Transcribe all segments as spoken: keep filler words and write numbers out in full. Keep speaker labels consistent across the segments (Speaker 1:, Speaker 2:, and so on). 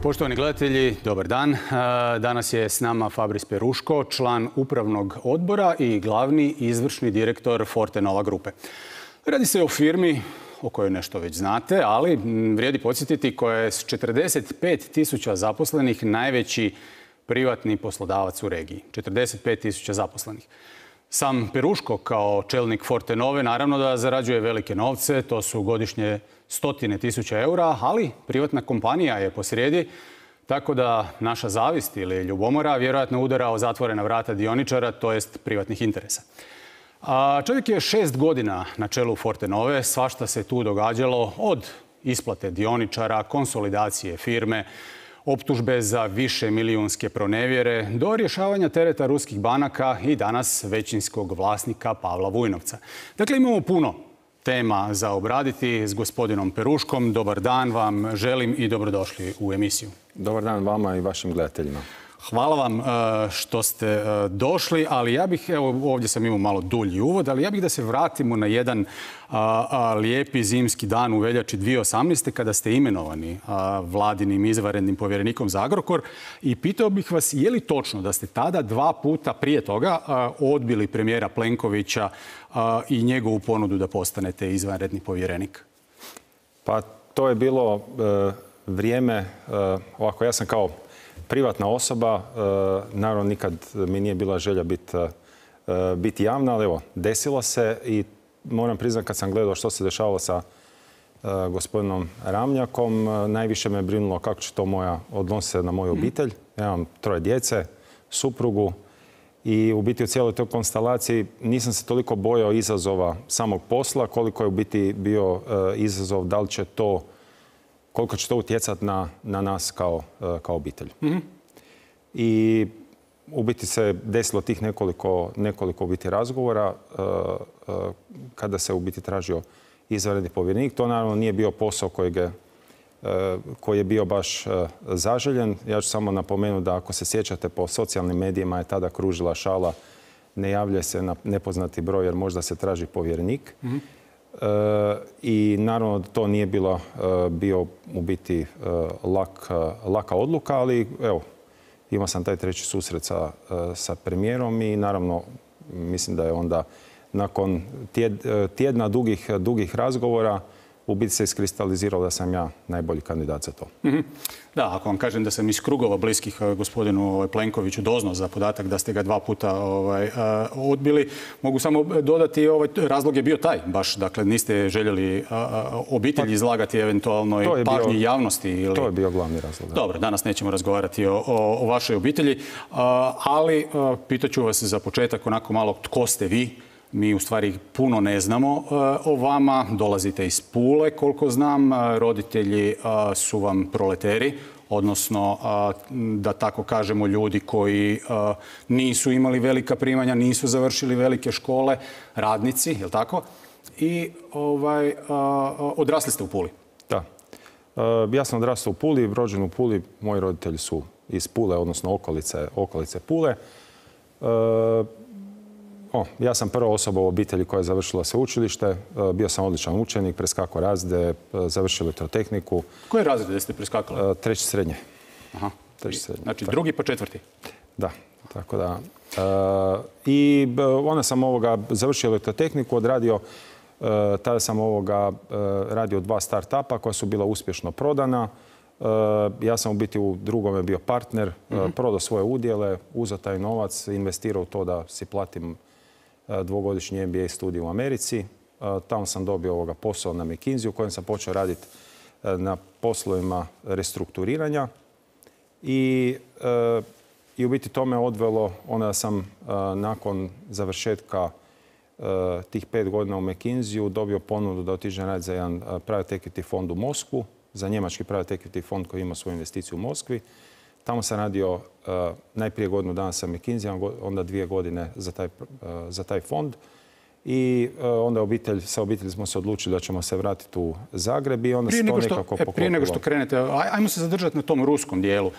Speaker 1: Poštovani gledatelji, dobar dan. Danas je s nama Fabris Peruško, član upravnog odbora i glavni izvršni direktor Fortenova grupe. Radi se o firmi o kojoj nešto već znate, ali vrijedi podsjetiti koja je s četrdeset pet tisuća zaposlenih najveći privatni poslodavac u regiji. četrdeset pet tisuća zaposlenih. Sam Peruško kao čelnik Fortenove naravno da zarađuje velike novce, to su godišnje stotine tisuća eura, ali privatna kompanija je posrijedi, tako da naša zavist ili ljubomora vjerojatno udara o zatvorena vrata dioničara, to jest privatnih interesa. A čovjek je šest godina na čelu Fortenove, svašta se tu događalo od isplate dioničara, konsolidacije firme, optužbe za više milijunske pronevjere, do rješavanja tereta ruskih banaka i danas većinskog vlasnika Pavla Vujnovca. Dakle, imamo puno tema za obraditi s gospodinom Peruškom. Dobar dan vam želim i dobrodošli u emisiju.
Speaker 2: Dobar dan vama i vašim gledateljima.
Speaker 1: Hvala vam što ste došli, ali ja bih, evo ovdje sam imao malo dulji uvod, ali ja bih da se vratimo na jedan a, a, lijepi zimski dan u veljači dvije tisuće osamnaeste. kada ste imenovani a, vladinim izvanrednim povjerenikom za Agrokor i pitao bih vas je li točno da ste tada dva puta prije toga a, odbili premijera Plenkovića a, i njegovu ponudu da postanete izvanredni povjerenik?
Speaker 2: Pa to je bilo e, vrijeme, e, ovako ja sam kao privatna osoba, naravno nikad mi nije bila želja biti, biti javna, ali evo, desilo se i moram priznati kad sam gledao što se dešavalo sa gospodinom Ramljakom, najviše me brinulo kako će to moja odnose na moju obitelj. Ja imam troje djece, suprugu i u biti u cijeloj toj konstelaciji nisam se toliko bojao izazova samog posla koliko je u biti bio izazov da li će to koliko će to utjecati na, na nas kao, kao obitelj. Mm-hmm. I u biti se desilo tih nekoliko, nekoliko u biti razgovora uh, uh, kada se u biti tražio izvanredni povjerenik. To naravno nije bio posao kojeg je, uh, koji je bio baš uh, zaželjen. Ja ću samo napomenuti da ako se sjećate po socijalnim medijima je tada kružila šala ne javlja se na nepoznati broj jer možda se traži povjerenik. Mm-hmm. E, I naravno da to nije bilo e, bio u biti e, lak, laka odluka, ali evo, imao sam taj treći susret sa, e, sa premijerom i naravno mislim da je onda nakon tjed, tjedna dugih, dugih razgovora u biti se iskristaliziralo da sam ja najbolji kandidat za to.
Speaker 1: Mm-hmm. Da, ako vam kažem da sam iz krugova bliskih gospodinu Plenkoviću doznao za podatak da ste ga dva puta ovaj, odbili, mogu samo dodati ovaj razlog je bio taj baš, dakle niste željeli a, obitelj izlagati eventualno i pažnji bio, javnosti. Ili...
Speaker 2: To je bio glavni razlog. Da.
Speaker 1: Dobro, danas nećemo razgovarati o, o, o vašoj obitelji, a, ali a, pitaću vas za početak onako malo tko ste vi. Mi u stvari puno ne znamo uh, o vama. Dolazite iz Pule, koliko znam. Roditelji uh, su vam proleteri, odnosno, uh, da tako kažemo, ljudi koji uh, nisu imali velika primanja, nisu završili velike škole, radnici, je li tako? I ovaj, uh, odrasli ste u Puli.
Speaker 2: Da. Uh, ja sam odrastao u Puli, rođen u Puli. Moji roditelji su iz Pule, odnosno okolice, okolice Pule. Uh, O, ja sam prva osoba u obitelji koja je završila sveučilište. Bio sam odličan učenik, preskakao razrede, završio elektrotehniku.
Speaker 1: Koje razrede ste preskakali?
Speaker 2: Treći srednje.
Speaker 1: Aha. Treći srednje. Znači tako. Drugi pa četvrti?
Speaker 2: Da, tako da. I onda sam ovoga završio elektrotehniku, odradio, tada sam ovoga radio dva start-upa koja su bila uspješno prodana. Ja sam u biti u drugome bio partner, mm-hmm. prodao svoje udjele, uzeo taj novac, investirao u to da si platim dvogodišnji M B A studij u Americi. Tamo sam dobio ovoga posao na McKinsey u kojem sam počeo raditi na poslovima restrukturiranja. I, i u biti to me odvelo, onda sam nakon završetka tih pet godina u McKinseyu dobio ponudu da otiđem raditi za jedan private equity fond u Moskvu, za njemački private equity fond koji ima svoju investiciju u Moskvi. Tamo sam radio uh, najprije godinu dana sa McKinseyom, onda dvije godine za taj, uh, za taj fond. I onda obitelj, sa obitelji smo se odlučili da ćemo se vratiti u Zagreb i onda se to nekako poklopilo.
Speaker 1: Prije nego što krenete, ajmo se zadržati na tom ruskom dijelu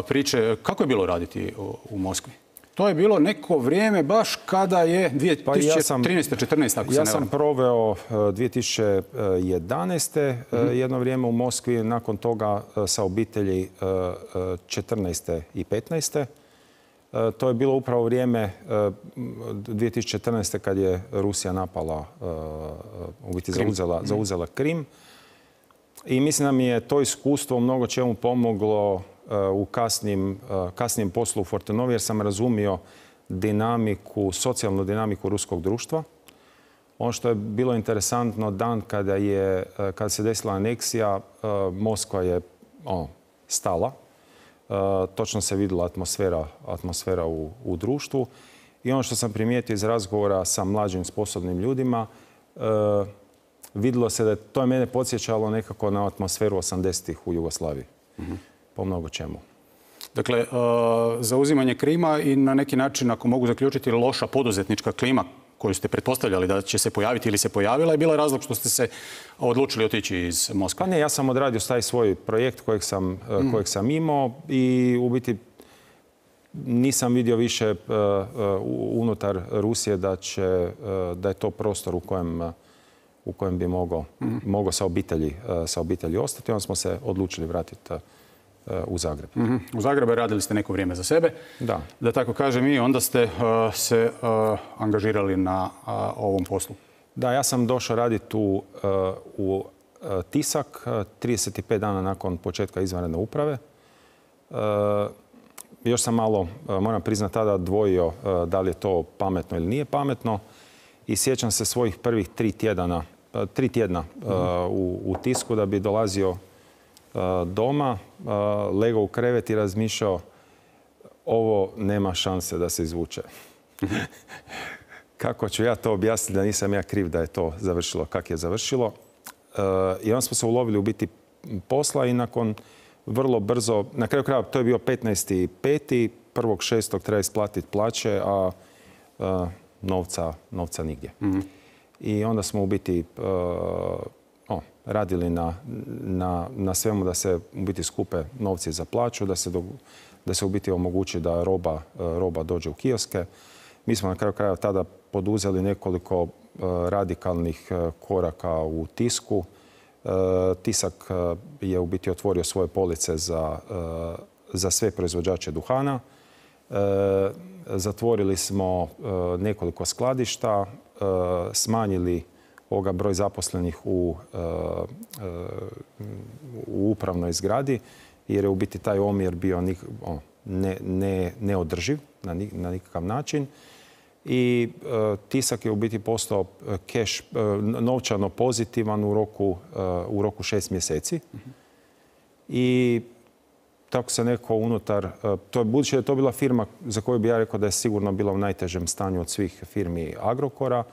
Speaker 1: priče. Kako je bilo raditi u Moskvi? To je bilo neko vrijeme baš kada je dvije tisuće trinaeste četrnaeste ako se ne varam.
Speaker 2: Ja sam proveo dvije tisuće jedanaeste jedno vrijeme u Moskvi, nakon toga sa obitelji četrnaeste i petnaeste To je bilo upravo vrijeme dvije tisuće četrnaeste kad je Rusija napala, u biti zauzela, zauzela Krim. I mislim da mi je to iskustvo u mnogo čemu pomoglo u kasnim, kasnijem poslu u Fortenovi, jer sam razumio dinamiku, socijalnu dinamiku ruskog društva. Ono što je bilo interesantno, dan kada, je, kada se desila aneksija, Moskva je ono, stala. Točno se vidjela atmosfera, atmosfera u, u društvu. I ono što sam primijetio iz razgovora sa mlađim sposobnim ljudima, vidjelo se da je, to je mene podsjećalo nekako na atmosferu osamdesetih u Jugoslaviji. Mm-hmm. Po mnogo čemu.
Speaker 1: Dakle, zauzimanje Krima i na neki način, ako mogu zaključiti, loša poduzetnička klima koju ste pretpostavljali da će se pojaviti ili se pojavila, je bila razlog što ste se odlučili otići iz Moskve?
Speaker 2: Pa ne, ja sam odradio taj svoj projekt kojeg sam, mm. kojeg sam imao i u biti nisam vidio više uh, unutar Rusije da, će, uh, da je to prostor u kojem, uh, u kojem bi mogao, mm. mogao sa, obitelji, uh, sa obitelji ostati. Onda smo se odlučili vratiti uh, u Zagreb.
Speaker 1: Mm-hmm. U Zagrebu radili ste neko vrijeme za sebe.
Speaker 2: Da.
Speaker 1: Da tako kažem, i onda ste uh, se uh, angažirali na uh, ovom poslu.
Speaker 2: Da, ja sam došao raditi u, uh, u uh, Tisak uh, trideset pet dana nakon početka izvanredne uprave. Uh, još sam malo, uh, moram priznati, tada dvojio uh, da li je to pametno ili nije pametno. I sjećam se svojih prvih tri tjedana, uh, tri tjedna uh, mm-hmm. u, u Tisku da bi dolazio doma, legao u krevet i razmišljao ovo nema šanse da se izvuče. Kako ću ja to objasniti da nisam ja kriv da je to završilo kako je završilo. I onda smo se ulovili u biti posla i nakon vrlo brzo, na kraju kraja to je bio petnaesti peti prvog šestog treba isplatiti plaće, a novca, novca nigdje. Mm-hmm. I onda smo u biti O, radili na, na, na svemu da se u biti skupe novci za plaću, da se, do, da se u biti omogući da roba, roba dođe u kioske. Mi smo na kraju kraja tada poduzeli nekoliko uh, radikalnih uh, koraka u Tisku. Uh, Tisak uh, je u biti otvorio svoje police za, uh, za sve proizvođače duhana. Uh, zatvorili smo uh, nekoliko skladišta, uh, smanjili ovoga broj zaposlenih u, u upravnoj zgradi, jer je u biti taj omjer bio ne, ne, neodrživ na, na nikakav način. I Tisak je u biti postao keš, novčano pozitivan u roku, u roku šest mjeseci. Mm-hmm. I tako se neko unutar, to je, budući da je to bila firma za koju bi ja rekao da je sigurno bila u najtežem stanju od svih firmi Agrokora,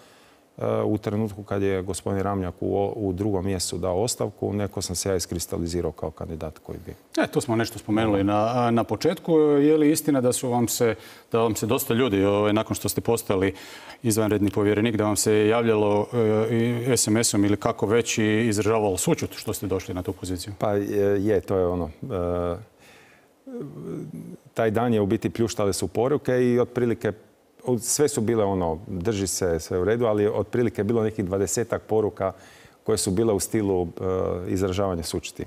Speaker 2: u trenutku kad je gospodin Ramljak u, u drugom mjesecu dao ostavku, neko sam se ja iskristalizirao kao kandidat koji bi...
Speaker 1: E, to smo nešto spomenuli na, na početku. Je li istina da su vam se, da vam se dosta ljudi, ovaj, nakon što ste postali izvanredni povjerenik, da vam se javljalo e, es em esom ili kako već i izražavalo sućut što ste došli na tu poziciju?
Speaker 2: Pa je, to je ono... E, taj dan je u biti pljuštale su poruke i otprilike sve su bile ono, drži se, sve u redu, ali otprilike je bilo nekih dvadesetak poruka koje su bile u stilu uh, izražavanja sućuti.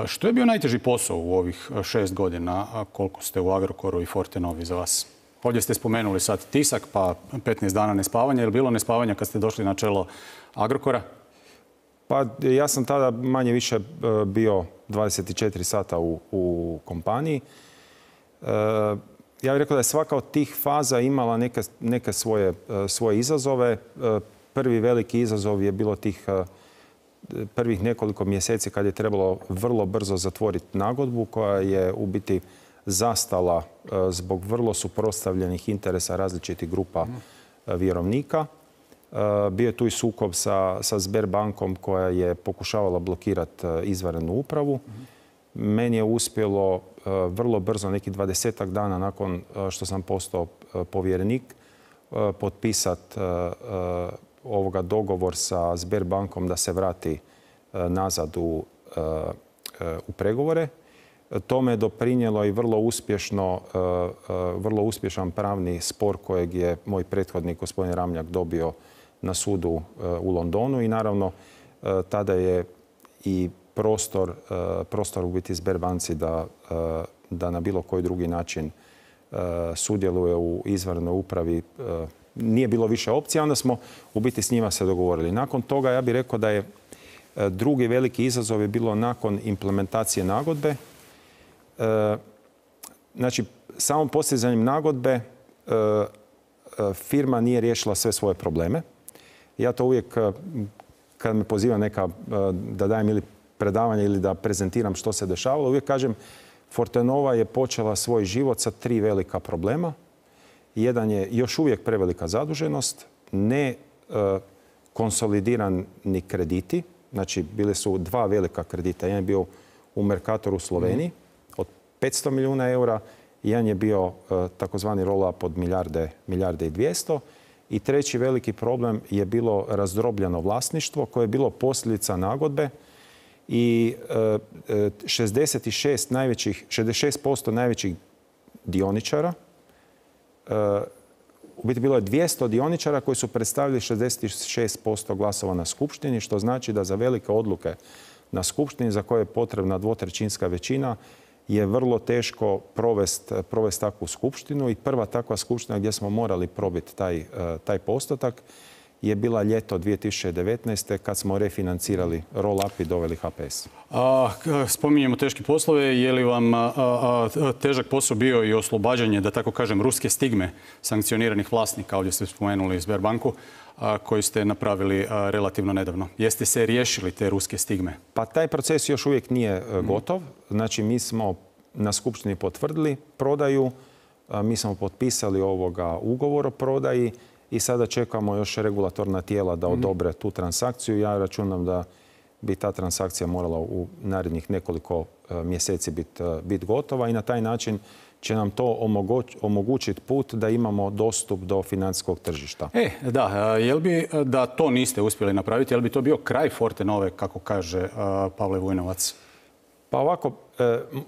Speaker 1: Što je bio najteži posao u ovih šest godina, koliko ste u Agrokoru i Fortenovi za vas? Ovdje ste spomenuli sad Tisak, pa petnaest dana nespavanja. Je li bilo nespavanja kad ste došli na čelo Agrokora?
Speaker 2: Pa ja sam tada manje više bio dvadeset četiri sata u, u kompaniji. Uh, Ja bih rekao da je svaka od tih faza imala neke, neke svoje, svoje izazove. Prvi veliki izazov je bilo tih prvih nekoliko mjeseci kad je trebalo vrlo brzo zatvoriti nagodbu koja je u biti zastala zbog vrlo suprotstavljenih interesa različitih grupa vjerovnika. Bio je tu i sukob sa, sa Sberbankom koja je pokušavala blokirati izvanrednu upravu. Meni je uspjelo vrlo brzo, neki dvadesetak dana nakon što sam postao povjerenik, potpisati ovoga dogovor sa Sberbankom da se vrati nazad u, u pregovore. Tome je doprinijelo i vrlo uspješno, vrlo uspješan pravni spor kojeg je moj prethodnik gospodin Ramljak dobio na sudu u Londonu i naravno tada je i prostor, prostor u biti Sberbanci da, da na bilo koji drugi način sudjeluje u izvanrednoj upravi. Nije bilo više opcija, onda smo u biti s njima se dogovorili. Nakon toga ja bih rekao da je drugi veliki izazov je bilo nakon implementacije nagodbe. Znači, samom postizanjem nagodbe firma nije riješila sve svoje probleme. Ja to uvijek, kad me poziva neka da dajem ili predavanje ili da prezentiram što se dešavalo, uvijek kažem Fortenova je počela svoj život sa tri velika problema. Jedan je još uvijek prevelika zaduženost, ne konsolidirani krediti. Znači, bili su dva velika kredita. Jedan je bio u Mercatoru u Sloveniji od petsto milijuna eura. Jedan je bio takozvani roll-up od milijarde, milijarde i dvjesto. I treći veliki problem je bilo razdrobljeno vlasništvo koje je bilo posljedica nagodbe i šezdeset šest najvećih, šezdeset šest posto najvećih dioničara, u biti bilo je dvjesto dioničara koji su predstavili šezdeset šest posto glasova na skupštini, što znači da za velike odluke na skupštini za koje je potrebna dvotrećinska većina je vrlo teško provesti provest takvu skupštinu i prva takva skupština gdje smo morali probiti taj, taj postotak je bila ljeto dvije tisuće devetnaeste. kad smo refinancirali roll-up i doveli H P S.
Speaker 1: A, spominjemo teške poslove. Je li vam a, a, težak posao bio i oslobađanje, da tako kažem, ruske stigme sankcioniranih vlasnika? Ovdje ste spomenuli Sberbanku, a, koju ste napravili a, relativno nedavno. Jeste se riješili te ruske stigme? Pa
Speaker 2: taj proces još uvijek nije mm. gotov. Znači, mi smo na skupštini potvrdili prodaju, a, mi smo potpisali ovoga ugovor o prodaji i sada čekamo još regulatorna tijela da odobre tu transakciju. Ja računam da bi ta transakcija morala u narednih nekoliko mjeseci biti bit gotova i na taj način će nam to omogućiti put da imamo dostup do financijskog tržišta.
Speaker 1: E, da, jel bi da to niste uspjeli napraviti, jel bi to bio kraj Fortenove, kako kaže Pavle Vujnovac?
Speaker 2: Pa ovako,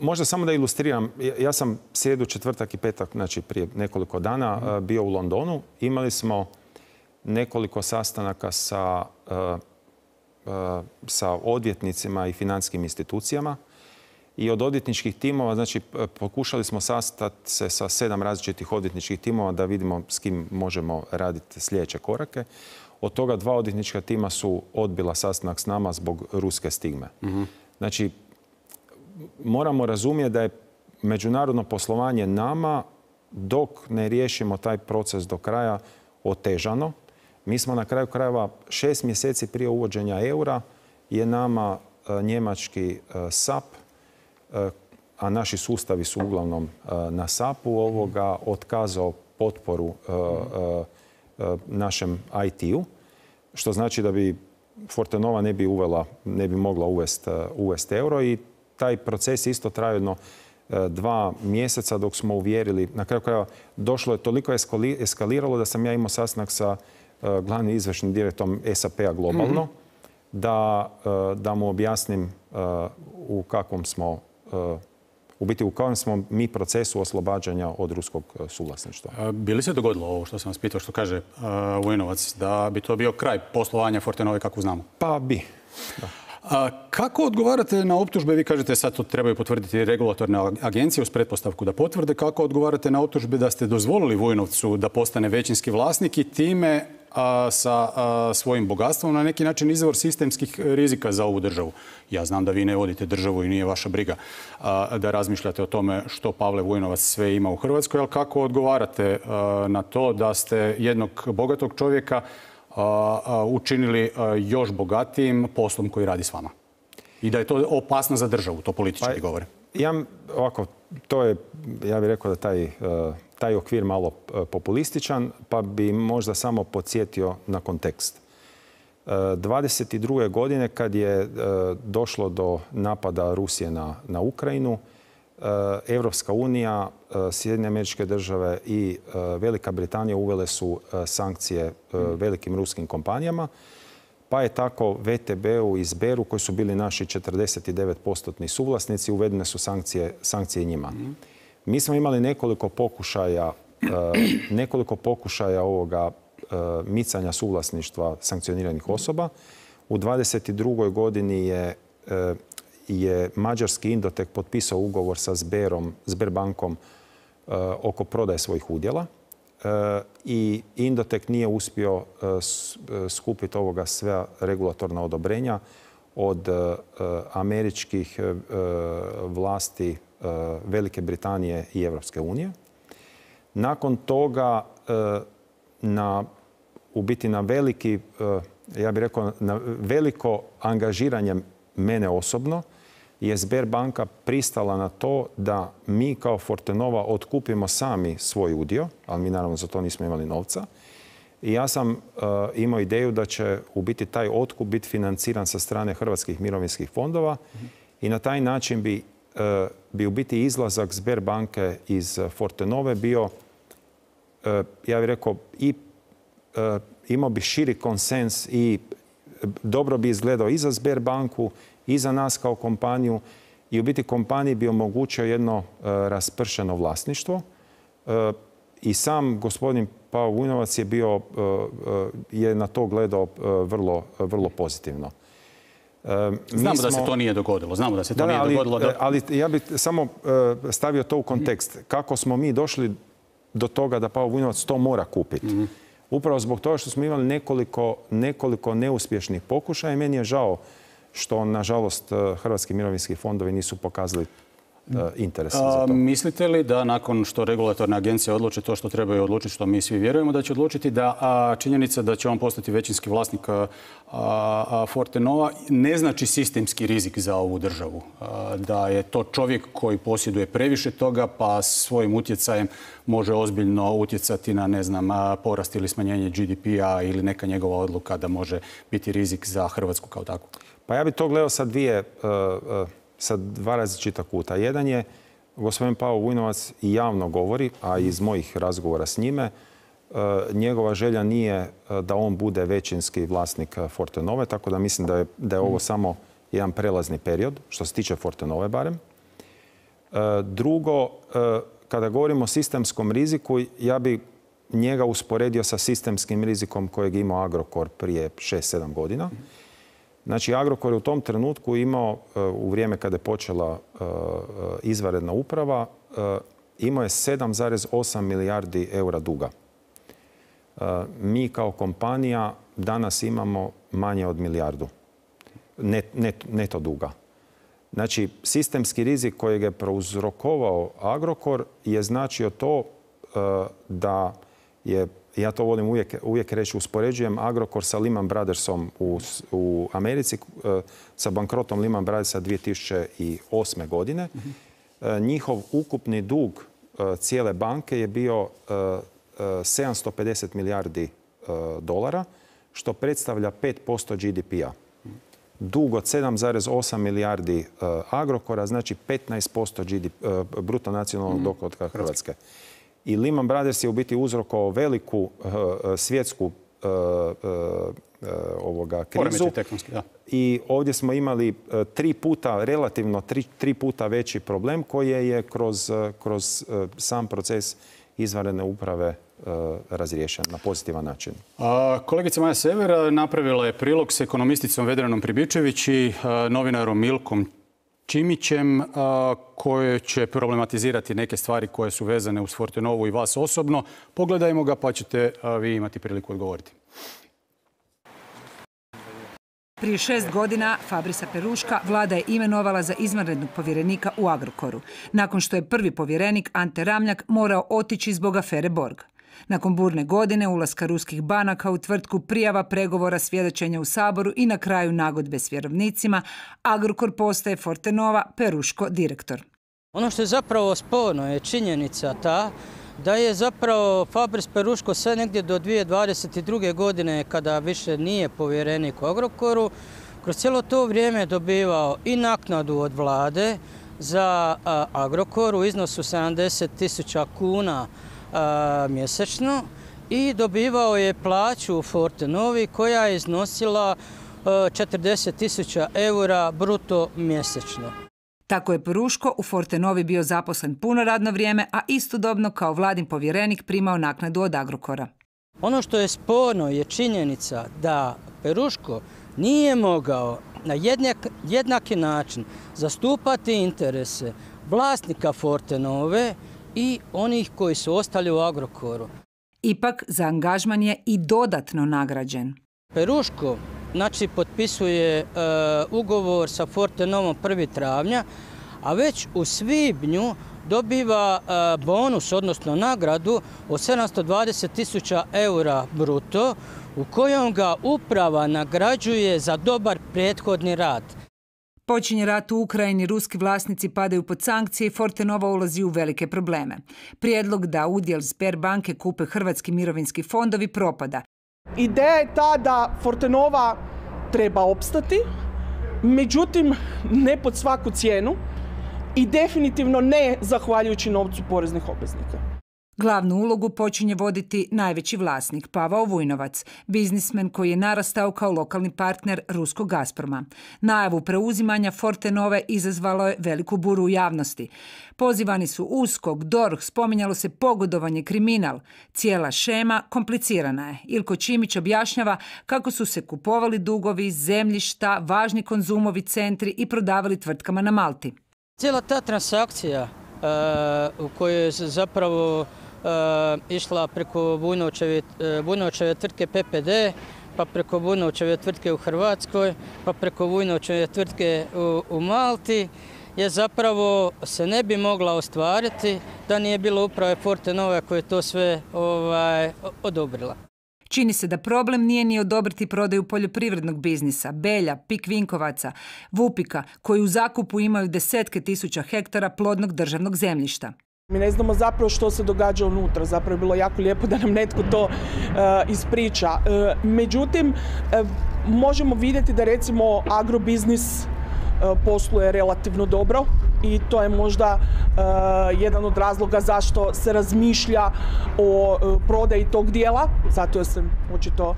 Speaker 2: možda samo da ilustriram. Ja sam srijedu, četvrtak i petak, znači prije nekoliko dana, bio u Londonu. Imali smo nekoliko sastanaka sa, sa odvjetnicima i financijskim institucijama. I od odvjetničkih timova, znači pokušali smo sastati se sa sedam različitih odvjetničkih timova da vidimo s kim možemo raditi sljedeće korake. Od toga dva odvjetnička tima su odbila sastanak s nama zbog ruske stigme. Mm-hmm. Znači, moramo razumjeti da je međunarodno poslovanje nama, dok ne riješimo taj proces do kraja, otežano. Mi smo na kraju krajeva šest mjeseci prije uvođenja eura je nama njemački S A P, a naši sustavi su uglavnom na S A P-u, ovoga otkazao potporu našem I T-u, što znači da bi Fortenova ne bi uvela, ne bi mogla uvesti uvest euro i taj proces isto trajao jedno dva mjeseca dok smo uvjerili. Na kraju krajeva došlo je toliko eskaliralo da sam ja imao sastanak sa glavnim izvršnim direktorom S A P-a globalno, mm-hmm. da, da mu objasnim u kakvom smo u biti u kakvom smo mi procesu oslobađanja od ruskog suvlasništva.
Speaker 1: Bi li se dogodilo ovo što sam vas pitao, što kaže Vujnovac, da bi to bio kraj poslovanja Fortenove kako znamo?
Speaker 2: Pa bi. Da.
Speaker 1: A kako odgovarate na optužbe? Vi kažete sad to trebaju potvrditi regulatorne agencije uz pretpostavku da potvrde. Kako odgovarate na optužbe da ste dozvolili Vujnovcu da postane većinski vlasnik i time a, sa a, svojim bogatstvom na neki način izvor sistemskih rizika za ovu državu? Ja znam da vi ne vodite državu i nije vaša briga a, da razmišljate o tome što Pavle Vujnovac sve ima u Hrvatskoj, ali kako odgovarate a, na to da ste jednog bogatog čovjeka učinili još bogatijim poslom koji radi s vama? I da je to opasno za državu, to politički pa, govore.
Speaker 2: Ja, ovako, to je, ja bih rekao da taj, taj okvir malo populističan, pa bi možda samo podsjetio na kontekst. dvadeset druge godine kad je došlo do napada Rusije na, na Ukrajinu, Evropska unija, Sjedinjene Američke Države i Velika Britanija uvele su sankcije velikim ruskim kompanijama. Pa je tako V T B-u i Sberu, koji su bili naši četrdeset devet posto suvlasnici, uvedene su sankcije, sankcije njima. Mi smo imali nekoliko pokušaja, nekoliko pokušaja ovoga micanja suvlasništva sankcioniranih osoba. U dvadeset drugoj godini je, je mađarski Indotek potpisao ugovor sa Sberom, Sberbankom oko prodaje svojih udjela. I Indotek nije uspio skupiti ovoga sve regulatorna odobrenja od američkih vlasti Velike Britanije i Evropske unije. Nakon toga, na, u biti na veliki, ja bih rekao, na veliko angažiranje mene osobno, je Sberbanka pristala na to da mi kao Fortenova otkupimo sami svoj udio, ali mi naravno za to nismo imali novca. I ja sam uh, imao ideju da će u biti taj otkup biti financiran sa strane hrvatskih mirovinskih fondova mm-hmm. i na taj način bi, uh, bi u biti izlazak Sberbanke iz Fortenove bio, uh, ja bih rekao, i uh, imao bi širi konsens i dobro bi izgledao i za Sberbanku i za nas kao kompaniju i u biti kompaniji bi omogućio jedno uh, raspršeno vlasništvo. Uh, I sam gospodin Pavo Vujnovac je bio, uh, uh, je na to gledao uh, vrlo, uh, vrlo pozitivno.
Speaker 1: Uh, Znamo smo... da se to nije dogodilo. Znamo da se to da, nije
Speaker 2: ali,
Speaker 1: dogodilo. Da...
Speaker 2: Ali ja bih samo uh, stavio to u kontekst. Kako smo mi došli do toga da Pavo Vujnovac to mora kupiti. Mm-hmm. Upravo zbog toga što smo imali nekoliko, nekoliko neuspješnih pokušaja i meni je žao što, nažalost, hrvatski mirovinski fondovi nisu pokazali interes za to.
Speaker 1: Mislite li da nakon što regulatorne agencije odluče to što trebaju odlučiti, što mi svi vjerujemo da će odlučiti, da a, činjenica da će on postati većinski vlasnik a, a, Fortenova ne znači sistemski rizik za ovu državu? A, da je to čovjek koji posjeduje previše toga pa svojim utjecajem može ozbiljno utjecati na, ne znam, porast ili smanjenje G D P-a ili neka njegova odluka da može biti rizik za Hrvatsku kao takvu?
Speaker 2: Pa ja bih to gledao sa dvije... Uh, uh, sa dva različita kuta. Jedan je, gospodin Pavo Vujnovac i javno govori, a iz mojih razgovora s njime, njegova želja nije da on bude većinski vlasnik Fortenove, tako da mislim da je, da je ovo samo jedan prelazni period, što se tiče Fortenove barem. Drugo, kada govorimo o sistemskom riziku, ja bi njega usporedio sa sistemskim rizikom kojeg imao Agrokor prije šest sedam godina. Znači, Agrokor je u tom trenutku imao, u vrijeme kada je počela izvanredna uprava, imao je sedam zarez osam milijardi eura duga. Mi kao kompanija danas imamo manje od milijardu net, net, neto duga. Znači, sistemski rizik kojeg je prouzrokovao Agrokor je značio to da je, ja to volim uvijek, uvijek reći, uspoređujem Agrokor sa Lehman Brothersom u, u Americi, sa bankrotom Lehman Brothersa dvije tisuće osme. godine. Mm-hmm. Njihov ukupni dug cijele banke je bio sedamsto pedeset milijardi dolara, što predstavlja pet posto G D P-a. Dug od sedam zarez osam milijardi Agrokora znači petnaest posto G D P, bruto nacionalnog dohotka Hrvatske. I Lehman Brothers je u biti uzrokovao veliku uh, svjetsku uh, uh, ovoga krizu.
Speaker 1: Da.
Speaker 2: I ovdje smo imali uh, tri puta, relativno tri, tri puta veći problem koji je kroz, uh, kroz uh, sam proces izvanredne uprave uh, razriješen na pozitivan način.
Speaker 1: A, kolegica Maja Sever napravila je prilog s ekonomisticom Vedranom Pribičević i uh, novinarom Milkom Čimićem, koje će problematizirati neke stvari koje su vezane uz Fortenovu i vas osobno. Pogledajmo ga pa ćete vi imati priliku odgovoriti.
Speaker 3: Prije šest godina Fabrisa Peruška vlada je imenovala za izvanrednog povjerenika u Agrokoru, nakon što je prvi povjerenik Ante Ramljak morao otići zbog afere Borg. Nakon burne godine, ulaska ruskih banaka u tvrtku, prijava pregovora, svjedočenja u Saboru i na kraju nagodbe s vjerovnicima, Agrokor postaje Fortenova, Peruško direktor.
Speaker 4: Ono što je zapravo sporno je činjenica ta da je zapravo Fabris Peruško sve negdje do dvije tisuće dvadeset druge. godine, kada više nije povjerenik u Agrokoru, kroz cijelo to vrijeme dobivao i naknadu od vlade, za Agrokor u iznosu sedamdeset tisuća kuna mjesečno i dobivao je plaću u Fortenovi koja je iznosila četrdeset tisuća eura bruto mjesečno.
Speaker 3: Tako je Peruško u Fortenovi bio zaposlen puno radno vrijeme, a istodobno kao vladin povjerenik primao naknadu od Agrokora.
Speaker 4: Ono što je sporno je činjenica da Peruško nije mogao na jednak, jednaki način zastupati interese vlasnika Fortenove i onih koji su ostali u Agrokoru.
Speaker 3: Ipak, za angažman je i dodatno nagrađen.
Speaker 4: Peruško znači, potpisuje uh, ugovor sa Fortenovom prvog travnja, a već u svibnju dobiva uh, bonus, odnosno nagradu od sedamsto dvadeset tisuća eura bruto, u kojom ga uprava nagrađuje za dobar prethodni rad.
Speaker 3: Počinje rat u Ukrajini, ruski vlasnici padaju pod sankcije i Fortenova ulazi u velike probleme. Prijedlog da udjel Sberbanke kupe hrvatski mirovinski fondovi propada.
Speaker 5: Ideja je ta da Fortenova treba opstati, međutim ne pod svaku cijenu i definitivno ne zahvaljujući novcu poreznih obveznika.
Speaker 3: Glavnu ulogu počinje voditi najveći vlasnik, Pavao Vujnovac, biznismen koji je narastao kao lokalni partner ruskog Gazproma. Najavu preuzimanja Fortenove izazvalo je veliku buru u javnosti. Pozivani su U S K O K, D O R H, spominjalo se pogodovanje, kriminal. Cijela šema komplicirana je. Ilko Čimić objašnjava kako su se kupovali dugovi, zemljišta, važni konzumovi centri i prodavali tvrtkama na Malti.
Speaker 4: Cijela ta transakcija uh, u kojoj je zapravo uh, išla preko Vujnovčeve, uh, Vujnovčeve tvrtke P P D, pa preko Vujnovčeve tvrtke u Hrvatskoj, pa preko Vujnovčeve tvrtke u, u Malti, je zapravo se ne bi mogla ostvariti da nije bilo uprave Fortenove koja je to sve ovaj, odobrila.
Speaker 3: Čini se da problem nije ni odobriti prodaju poljoprivrednog biznisa, Belja, Pik Vinkovaca, Vupika, koji u zakupu imaju desetke tisuća hektara plodnog državnog zemljišta.
Speaker 5: Mi ne znamo zapravo što se događa unutra, zapravo je bilo jako lijepo da nam netko to uh, ispriča. Uh, međutim, uh, možemo vidjeti da recimo agrobiznis uh, posluje relativno dobro i to je možda uh, jedan od razloga zašto se razmišlja o uh, prodaji tog dijela, zato jer se očito uh,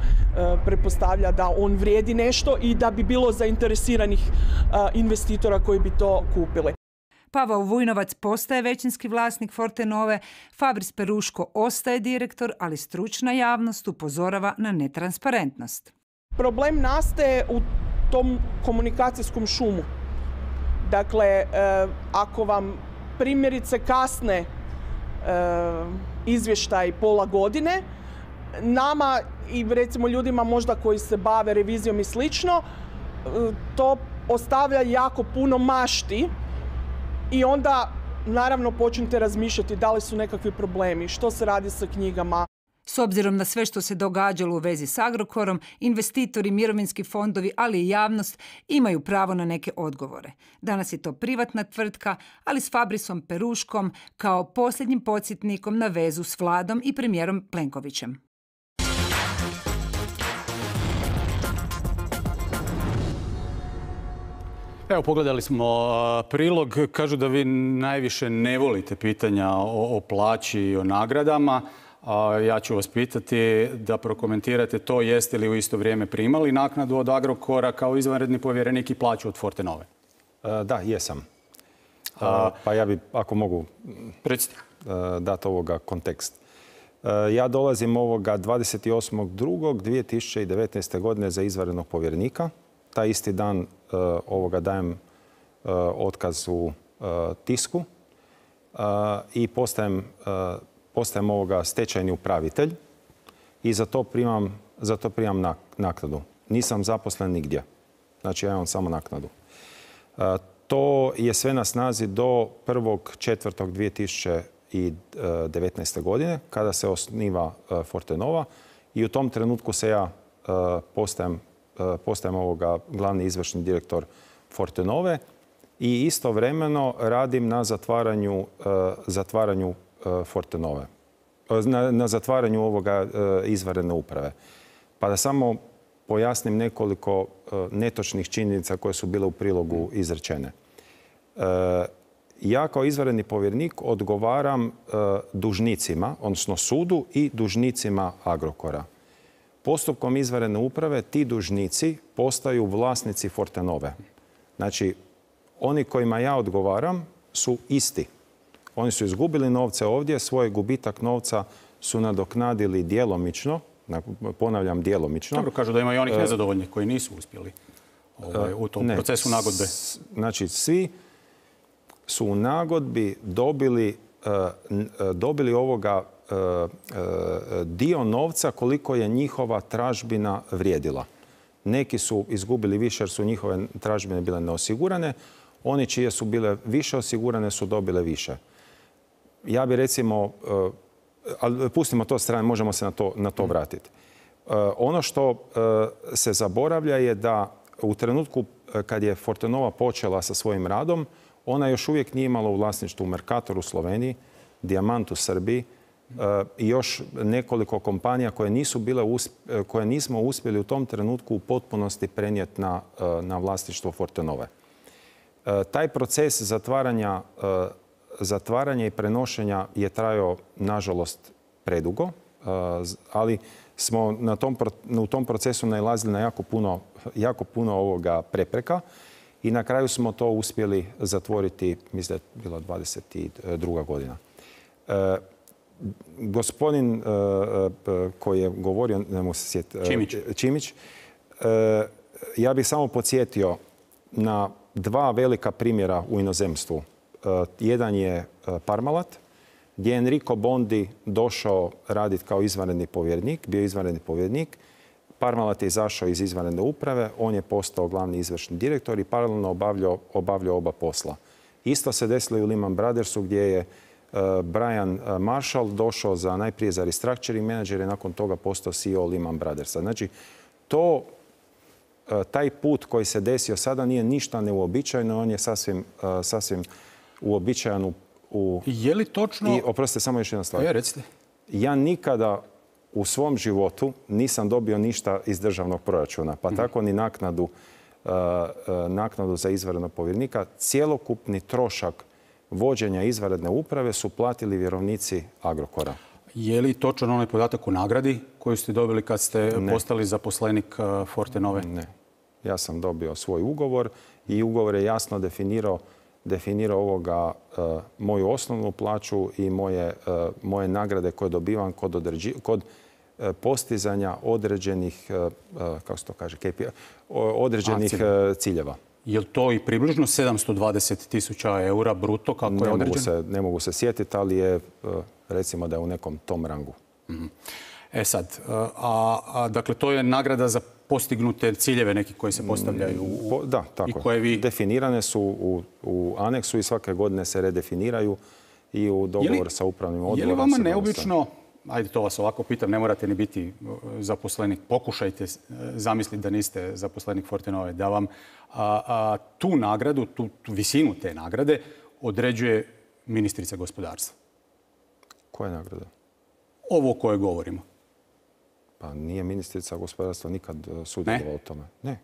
Speaker 5: pretpostavlja da on vrijedi nešto i da bi bilo zainteresiranih uh, investitora koji bi to kupili.
Speaker 3: Pavao Vujnovac postaje većinski vlasnik Fortenove, Fabris Peruško ostaje direktor, ali stručna javnost upozorava na netransparentnost.
Speaker 5: Problem nastaje u tom komunikacijskom šumu. Dakle, e, ako vam primjerice kasne e, izvještaj pola godine, nama i recimo ljudima možda koji se bave revizijom i slično, e, to ostavlja jako puno mašti i onda naravno počnete razmišljati da li su nekakvi problemi, što se radi sa knjigama.
Speaker 3: S obzirom na sve što se događalo u vezi s Agrokorom, investitori, mirovinski fondovi, ali i javnost imaju pravo na neke odgovore. Danas je to privatna tvrtka, ali s Fabrisom Peruškom kao posljednjim podsjetnikom na vezu s vladom i premijerom Plenkovićem.
Speaker 1: Evo, pogledali smo prilog. Kažu da vi najviše ne volite pitanja o, o plaći i o nagradama. Ja ću vas pitati da prokomentirate to, jeste li u isto vrijeme primali naknadu od Agrokora kao izvanredni povjerenik i plaću od Fortenove?
Speaker 2: Da, jesam. Pa ja bi, ako mogu, dati ovoga kontekst. Ja dolazim ovoga dvadeset osmog drugog dvije tisuće devetnaeste. godine za izvanrednog povjerenika. Taj isti dan ovoga dajem otkaz u Tisku i postajem postajem ovoga stečajni upravitelj i za to primam, za to primam naknadu. Nisam zaposlen nigdje. Znači ja imam samo naknadu. To je sve na snazi do prvog četvrtog dvije tisuće devetnaeste. godine kada se osniva Fortenova i u tom trenutku se ja postajem, postajem ovoga glavni izvršni direktor Fortenove i istovremeno radim na zatvaranju, zatvaranju Fortenove, na, na zatvaranju ovoga izvanredne uprave. Pa da samo pojasnim nekoliko netočnih činjenica koje su bile u prilogu izrečene. ja kao izvanredni povjerenik odgovaram dužnicima, odnosno sudu i dužnicima Agrokora. Postupkom izvanredne uprave ti dužnici postaju vlasnici Fortenove. Znači, oni kojima ja odgovaram su isti. Oni su izgubili novce ovdje, svoj gubitak novca su nadoknadili djelomično, ponavljam djelomično.
Speaker 1: Dobro, kažu da ima i onih nezadovoljnih koji nisu uspjeli ovaj, u tom ne, procesu nagodbe.
Speaker 2: Znači, svi su u nagodbi dobili, dobili ovoga dio novca koliko je njihova tražbina vrijedila. Neki su izgubili više jer su njihove tražbine bile neosigurane. Oni čije su bile više osigurane su dobile više. Ja bi recimo, ali pustimo to strane, možemo se na to, na to vratiti. Ono što se zaboravlja je da u trenutku kad je Fortenova počela sa svojim radom, ona još uvijek nije imala u vlasništvu Mercator u Sloveniji, Diamant u Srbiji i još nekoliko kompanija koje, nisu bile, koje nismo uspjeli u tom trenutku u potpunosti prenijeti na, na vlasništvo Fortenove. Taj proces zatvaranja, zatvaranja i prenošenja je trajao, nažalost, predugo, ali smo na tom, u tom procesu nailazili na jako puno, jako puno ovoga prepreka i na kraju smo to uspjeli zatvoriti, mislim da je bila dvadeset druga godina. E, gospodin e, koji je govorio, ne mogu se sjetiti,
Speaker 1: Čimić,
Speaker 2: Čimić e, ja bih samo podsjetio na dva velika primjera u inozemstvu. E, jedan je Parmalat, gdje je Enrico Bondi došao raditi kao izvanredni povjerenik, bio izvanredni povjerenik. Parmalat je izašao iz izvanredne uprave, on je postao glavni izvršni direktor i paralelno obavljao, obavljao oba posla. Isto se desilo i u Lehman Brothersu gdje je uh, Brian Marshall došao za, najprije za restructuring manager i nakon toga postao C E O Lehman Brothersa. Znači, to, uh, taj put koji se desio sada nije ništa neuobičajeno, on je sasvim, uh, sasvim uobičajan u U...
Speaker 1: Je li točno...
Speaker 2: I, oprostite, samo još jedna stvar.
Speaker 1: Je, recite.
Speaker 2: Ja nikada u svom životu nisam dobio ništa iz državnog proračuna, pa mm. tako ni naknadu, uh, uh, naknadu za izvanrednog povjerenika. Cjelokupni trošak vođenja izvanredne uprave su platili vjerovnici Agrokora.
Speaker 1: Je li točan onaj podatak o nagradi koju ste dobili kad ste
Speaker 2: ne.
Speaker 1: postali zaposlenik uh, Fortenove?
Speaker 2: Ne. Ja sam dobio svoj ugovor i ugovor je jasno definirao definirao ovoga uh, moju osnovnu plaću i moje, uh, moje nagrade koje dobivam kod, određi, kod uh, postizanja određenih, uh, uh, kako se to kaže, K P I, određenih uh, ciljeva.
Speaker 1: Je li to i približno sedamsto dvadeset tisuća eura bruto kako
Speaker 2: ne
Speaker 1: je određeno?
Speaker 2: Mogu se, ne mogu se sjetiti, ali je, uh, recimo da je u nekom tom rangu.
Speaker 1: Mm-hmm. E sad, a, a dakle to je nagrada za postignute ciljeve neki koji se postavljaju u,
Speaker 2: da, tako.
Speaker 1: I koje vi...
Speaker 2: Definirane su u, u aneksu i svake godine se redefiniraju i u dogovor sa upravnim odborom.
Speaker 1: Je li vama neobično, ajde to vas ovako pitam, ne morate ni biti zaposlenik, pokušajte zamisliti da niste zaposlenik Fortenove, da vam a, a, tu nagradu, tu, tu visinu te nagrade određuje ministrica gospodarstva?
Speaker 2: Koja nagrada?
Speaker 1: Ovo o kojoj govorimo.
Speaker 2: Pa nije ministrica gospodarstva nikad sudjelovala u tome. Ne.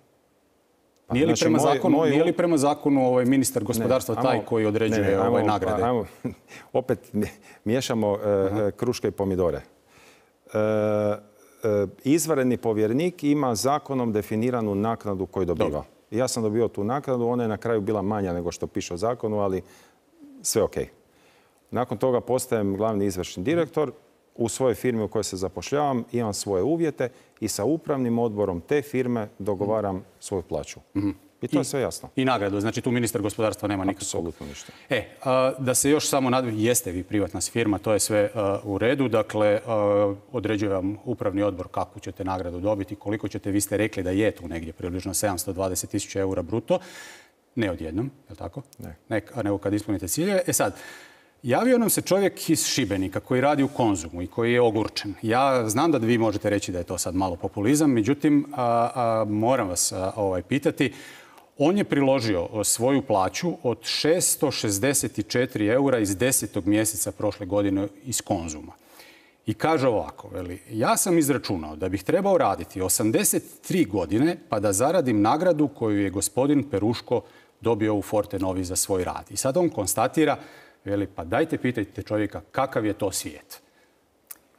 Speaker 2: Pa,
Speaker 1: nije, li
Speaker 2: znači,
Speaker 1: prema
Speaker 2: moj,
Speaker 1: zakonu,
Speaker 2: moj...
Speaker 1: nije li prema zakonu ovaj ministar gospodarstva ne, taj ajmo, koji određuje ne, ne, ajmo, ovaj nagrade?
Speaker 2: Pa, ajmo, opet miješamo uh, uh-huh. kruške i pomidore. Uh, uh, izvanredni povjerenik ima zakonom definiranu naknadu koju dobiva. Dobro. Ja sam dobio tu naknadu, ona je na kraju bila manja nego što piše u zakonu, ali sve ok. Nakon toga postajem glavni izvršni direktor. U svojoj firmi u kojoj se zapošljavam imam svoje uvjete i sa upravnim odborom te firme dogovaram svoju plaću. Mm-hmm. I to I, je sve jasno.
Speaker 1: I nagradu. Znači tu ministar gospodarstva nema nikakvog.
Speaker 2: Apsolutno ništa.
Speaker 1: E, a, da se još samo nadam, jeste vi privatna firma, to je sve a, u redu. Dakle, a, određuje vam upravni odbor kakvu ćete nagradu dobiti, koliko ćete, vi ste rekli da je tu negdje približno sedamsto dvadeset tisuća eura bruto. Ne odjednom, je li tako?
Speaker 2: Ne.
Speaker 1: ne. Nego kad ispunite ciljeve. E sad, javio nam se čovjek iz Šibenika koji radi u Konzumu i koji je ogorčen. Ja znam da vi možete reći da je to sad malo populizam, međutim, a, a, moram vas a, ovaj, pitati. On je priložio svoju plaću od šesto šezdeset četiri eura iz desetog mjeseca prošle godine iz Konzuma. I kaže ovako, veli, ja sam izračunao da bih trebao raditi osamdeset tri godine pa da zaradim nagradu koju je gospodin Peruško dobio u Fortenovi za svoj rad. I sad on konstatira, veli, pa dajte pitajte čovjeka kakav je to svijet.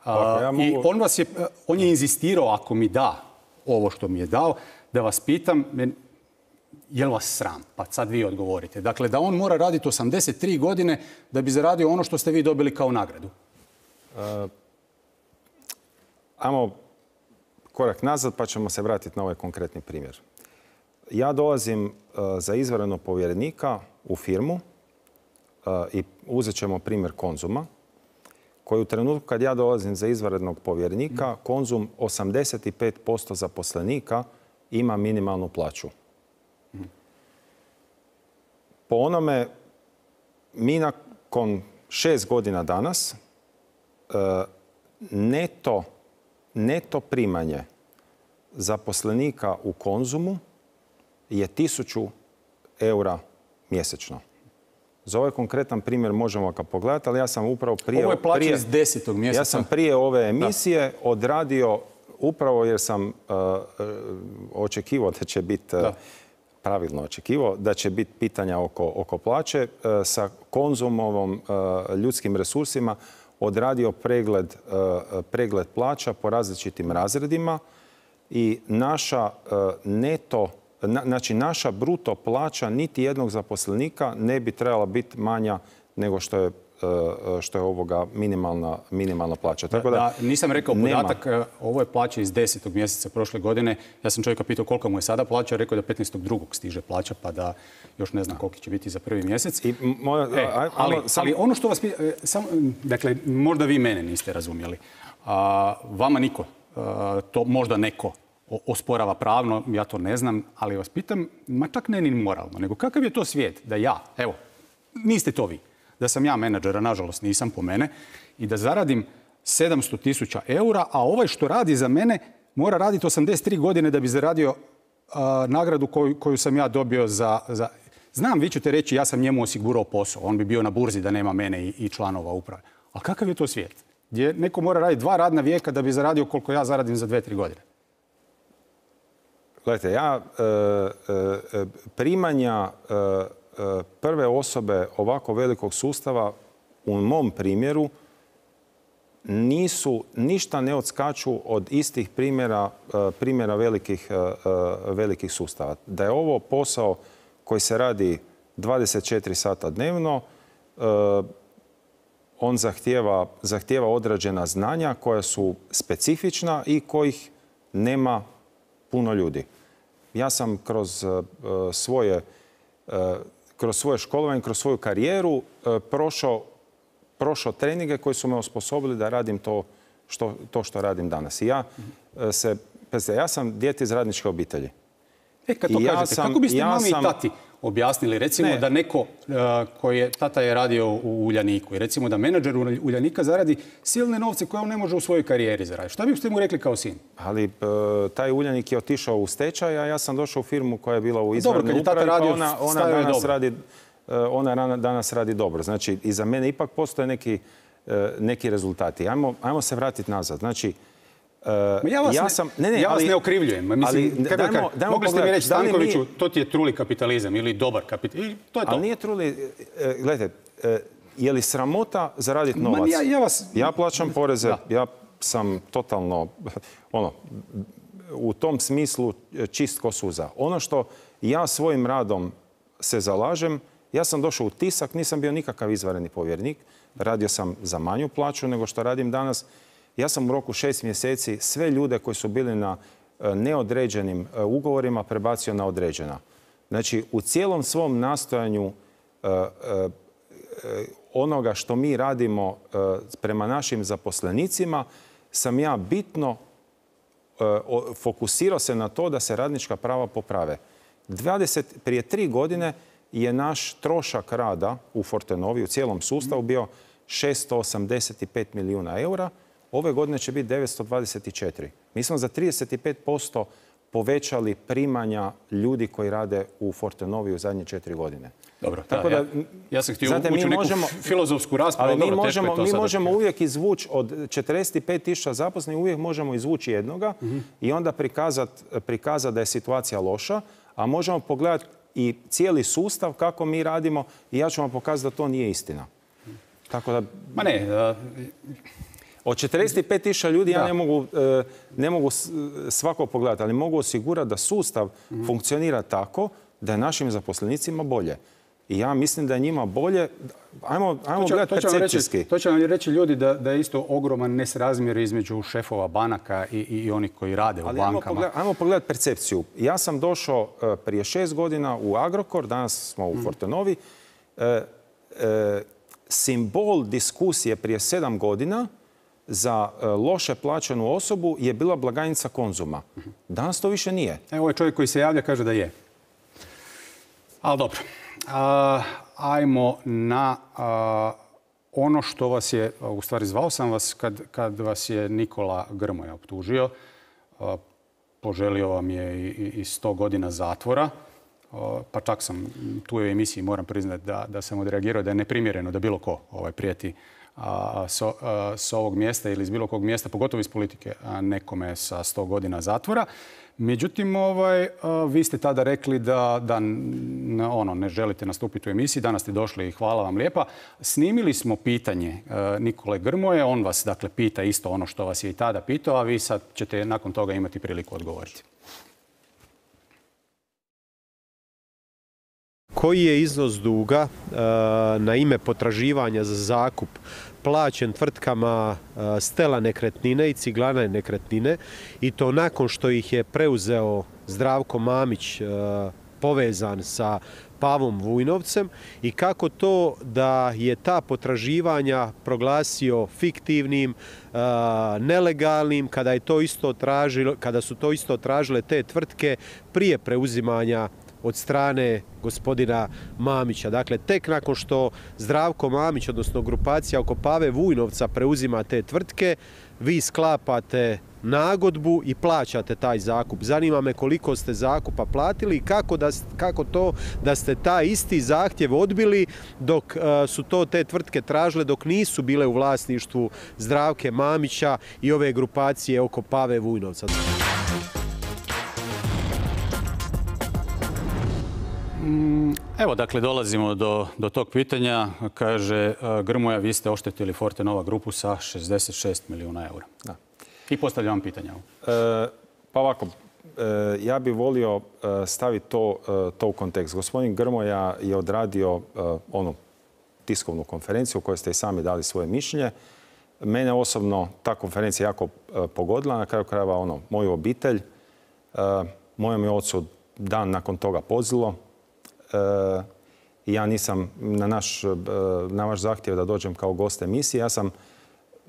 Speaker 1: A, ja mogu... I on, vas je, on je inzistirao, ako mi da ovo što mi je dao, da vas pitam, je li vas sram? Pa sad vi odgovorite. Dakle, da on mora raditi osamdeset tri godine da bi zaradio ono što ste vi dobili kao nagradu.
Speaker 2: Uh, ajmo korak nazad pa ćemo se vratiti na ovaj konkretni primjer. Ja dolazim uh, za izvanrednog povjerenika u firmu uh, i uzet ćemo primjer Konzuma, koji u trenutku kad ja dolazim za izvanrednog povjerenika, Konzum osamdeset pet posto zaposlenika ima minimalnu plaću. Po onome, mi nakon šest godina danas neto, neto primanje zaposlenika u Konzumu je tisuću eura mjesečno. Za ovaj konkretan primjer možemo ga pogledati, ali ja sam upravo prije...
Speaker 1: Ovo je plaća iz desetog mjeseca.
Speaker 2: Ja sam prije ove emisije da. odradio, upravo jer sam uh, očekivao da će biti, uh, pravilno očekivao, da će biti pitanja oko, oko plaće, uh, sa Konzumovom uh, ljudskim resursima odradio pregled, uh, pregled plaća po različitim razredima i naša uh, neto Na, znači, naša bruto plaća niti jednog zaposlenika ne bi trebala biti manja nego što je, što je ovoga minimalna, minimalna plaća. Tako da,
Speaker 1: da, nisam rekao podatak, nema. Ovo je plaća iz desetog mjeseca prošle godine. Ja sam čovjeka pitao koliko mu je sada plaća, rekao da petnaestog drugog stiže plaća, pa da još ne znam koliko će biti za prvi mjesec. I, moja, e, aj, ali, sam... ali ono što vas pita, sam, dakle, možda vi mene niste razumjeli. A, vama niko, a, to možda neko osporava pravno, ja to ne znam, ali vas pitam, ma čak ne ni moralno, nego kakav je to svijet da ja, evo, niste to vi, da sam ja menadžera, nažalost nisam po mene, i da zaradim sedamsto tisuća eura, a ovaj što radi za mene mora raditi osamdeset tri godine da bi zaradio uh, nagradu koju, koju sam ja dobio za, za... Znam, vi ćete reći, ja sam njemu osigurao posao, on bi bio na burzi da nema mene i, i članova uprave. Ali kakav je to svijet? Gdje neko mora raditi dva radna vijeka da bi zaradio koliko ja zaradim za dve, tri godine.
Speaker 2: Gledajte, ja e, e, primanja e, prve osobe ovako velikog sustava u mom primjeru nisu, ništa ne odskaču od istih primjera, primjera velikih, velikih sustava. Da je ovo posao koji se radi dvadeset četiri sata dnevno, on zahtijeva, zahtijeva određena znanja koja su specifična i kojih nema puno ljudi. Ja sam kroz uh, svoje, uh, kroz svoje školovanje, kroz svoju karijeru uh, prošao, prošao treninge koji su me osposobili da radim to što, to što radim danas. I ja uh, se, pazite, ja sam dijete iz radničke obitelji.
Speaker 1: E, kad to ja kažete, sam, kako biste ja mami sam... i tati objasnili, recimo ne. da neko uh, koji je, tata je radio u Uljaniku i recimo da menadžer Uljanika zaradi silne novce koje on ne može u svojoj karijeri zaraditi. Šta biste mu rekli kao sin?
Speaker 2: Ali uh, taj Uljanik je otišao u stečaj, a ja sam došao u firmu koja je bila u izvanrednoj upravi, pa ona, ona, danas radi, uh, ona danas radi dobro. Znači, i za mene ipak postoje neki, uh, neki rezultati. Ajmo, ajmo se vratiti nazad. Znači,
Speaker 1: Uh, ja vas, ja sam, ne, ne, ja vas ali, ne okrivljujem. Mislim, ali, kako dajmo, dajmo mogli ste mi reći, Stankoviću, mi... to ti je truli kapitalizam ili dobar kapitalizam. To je to.
Speaker 2: Ali nije truli... Gledajte, je li sramota zaraditi novac?
Speaker 1: Ja, ja, vas...
Speaker 2: ja plaćam poreze, da. Ja sam totalno, ono, u tom smislu čist ko suza. Ono što ja svojim radom se zalažem, ja sam došao u Tisak, nisam bio nikakav izvanredni povjerenik, radio sam za manju plaću nego što radim danas. Ja sam u roku šest mjeseci sve ljude koji su bili na neodređenim ugovorima prebacio na određena. Znači, u cijelom svom nastojanju onoga što mi radimo prema našim zaposlenicima sam ja bitno fokusirao se na to da se radnička prava poprave. dvadeset, prije tri godine je naš trošak rada u Fortenovi, u cijelom sustavu bio šesto osamdeset pet milijuna eura. Ove godine će biti devetsto dvadeset četiri. Mi smo za trideset pet posto povećali primanja ljudi koji rade u Fortenovi u zadnje četiri godine.
Speaker 1: Dobro, tako da, ja, ja sam htio znate, ući u neku možemo, filozofsku raspravu.
Speaker 2: Ali mi dobro, možemo, mi možemo uvijek izvući od četrdeset pet tisuća zaposlenih, uvijek možemo izvući jednoga mm-hmm. i onda prikazati prikazat da je situacija loša, a možemo pogledati i cijeli sustav kako mi radimo i ja ću vam pokazati da to nije istina. Tako da...
Speaker 1: Ma ne... Uh...
Speaker 2: Od četrdeset pet tisuća ljudi da. ja ne mogu, ne mogu svako pogledati, ali mogu osigurati da sustav mm. funkcionira tako da je našim zaposlenicima bolje. I ja mislim da je njima bolje. Ajmo, ajmo gledati percepcijski.
Speaker 1: To će vam reći ljudi da, da je isto ogroman nesrazmjer između šefova banaka i, i onih koji rade ali u bankama.
Speaker 2: Ajmo pogledati, ajmo pogledati percepciju. Ja sam došao prije šest godina u Agrokor, danas smo u mm. Fortenovi. E, e, simbol diskusije prije sedam godina za loše plaćenu osobu je bila blagajnica Konzuma. Danas to više nije.
Speaker 1: Evo ovaj čovjek koji se javlja kaže da je. Ali dobro. A, ajmo na a, ono što vas je, u stvari zvao sam vas kad, kad vas je Nikola Grmoja optužio. A, poželio vam je i, i sto godina zatvora. A, pa čak sam tu u emisiji, moram priznati da, da sam odreagirao da je neprimjereno da bilo ko ovaj, prijeti a, so, a, s ovog mjesta ili iz bilo kog mjesta, pogotovo iz politike, a nekome sa sto godina zatvora. Međutim, ovaj, vi ste tada rekli da, da ono, ne želite nastupiti u emisiji. Danas ste došli i hvala vam lijepa. Snimili smo pitanje Nikole Grmoje. On vas dakle pita isto ono što vas je i tada pitao, a vi sad ćete nakon toga imati priliku odgovoriti.
Speaker 6: Koji je iznos duga na ime potraživanja za zakup plaćen tvrtkama Stela nekretnine i Ciglane nekretnine i to nakon što ih je preuzeo Zdravko Mamić povezan sa Pavom Vujnovcem i kako to da je ta potraživanja proglasio fiktivnim, nelegalnim kada je to isto tražilo, kada su to isto tražile te tvrtke prije preuzimanja od strane gospodina Mamića. Dakle, tek nakon što Zdravko Mamić, odnosno grupacija oko Pave Vujnovca preuzima te tvrtke, vi sklapate nagodbu i plaćate taj zakup. Zanima me koliko ste zakupa platili i kako, da, kako to da ste taj isti zahtjev odbili dok uh, su to te tvrtke tražile, dok nisu bile u vlasništvu Zdravke Mamića i ove grupacije oko Pave Vujnovca.
Speaker 1: Evo, dakle, dolazimo do, do tog pitanja. Kaže Grmoja, vi ste oštetili Fortenova grupu sa šezdeset šest milijuna eura. Da. I postavljam vam pitanje.
Speaker 2: E, pa ovako, e, ja bih volio staviti to, to u kontekst. Gospodin Grmoja je odradio e, onu tiskovnu konferenciju u kojoj ste i sami dali svoje mišljenje. Mene osobno ta konferencija jako e, pogodila. Na kraju krajeva ono, moju obitelj. E, mojem je ocu dan nakon toga pozilo. I ja nisam na, naš, na vaš zahtjev da dođem kao gost emisije. Ja sam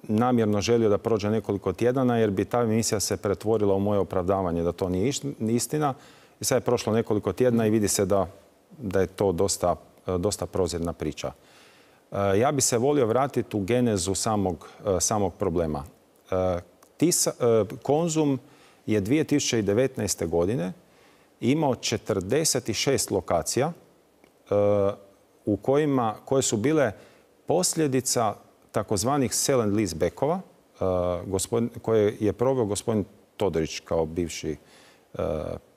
Speaker 2: namjerno želio da prođe nekoliko tjedana jer bi ta emisija se pretvorila u moje opravdavanje da to nije istina. I sad je prošlo nekoliko tjedana i vidi se da, da je to dosta, dosta prozirna priča. Ja bi se volio vratiti u genezu samog, samog problema. Tisa, Konzum je dvije tisuće devetnaeste. godine imao četrdeset šest lokacija uh, u kojima, koje su bile posljedica takozvanih sell and lease backova uh, koje je proveo gospodin Todorić kao bivši uh,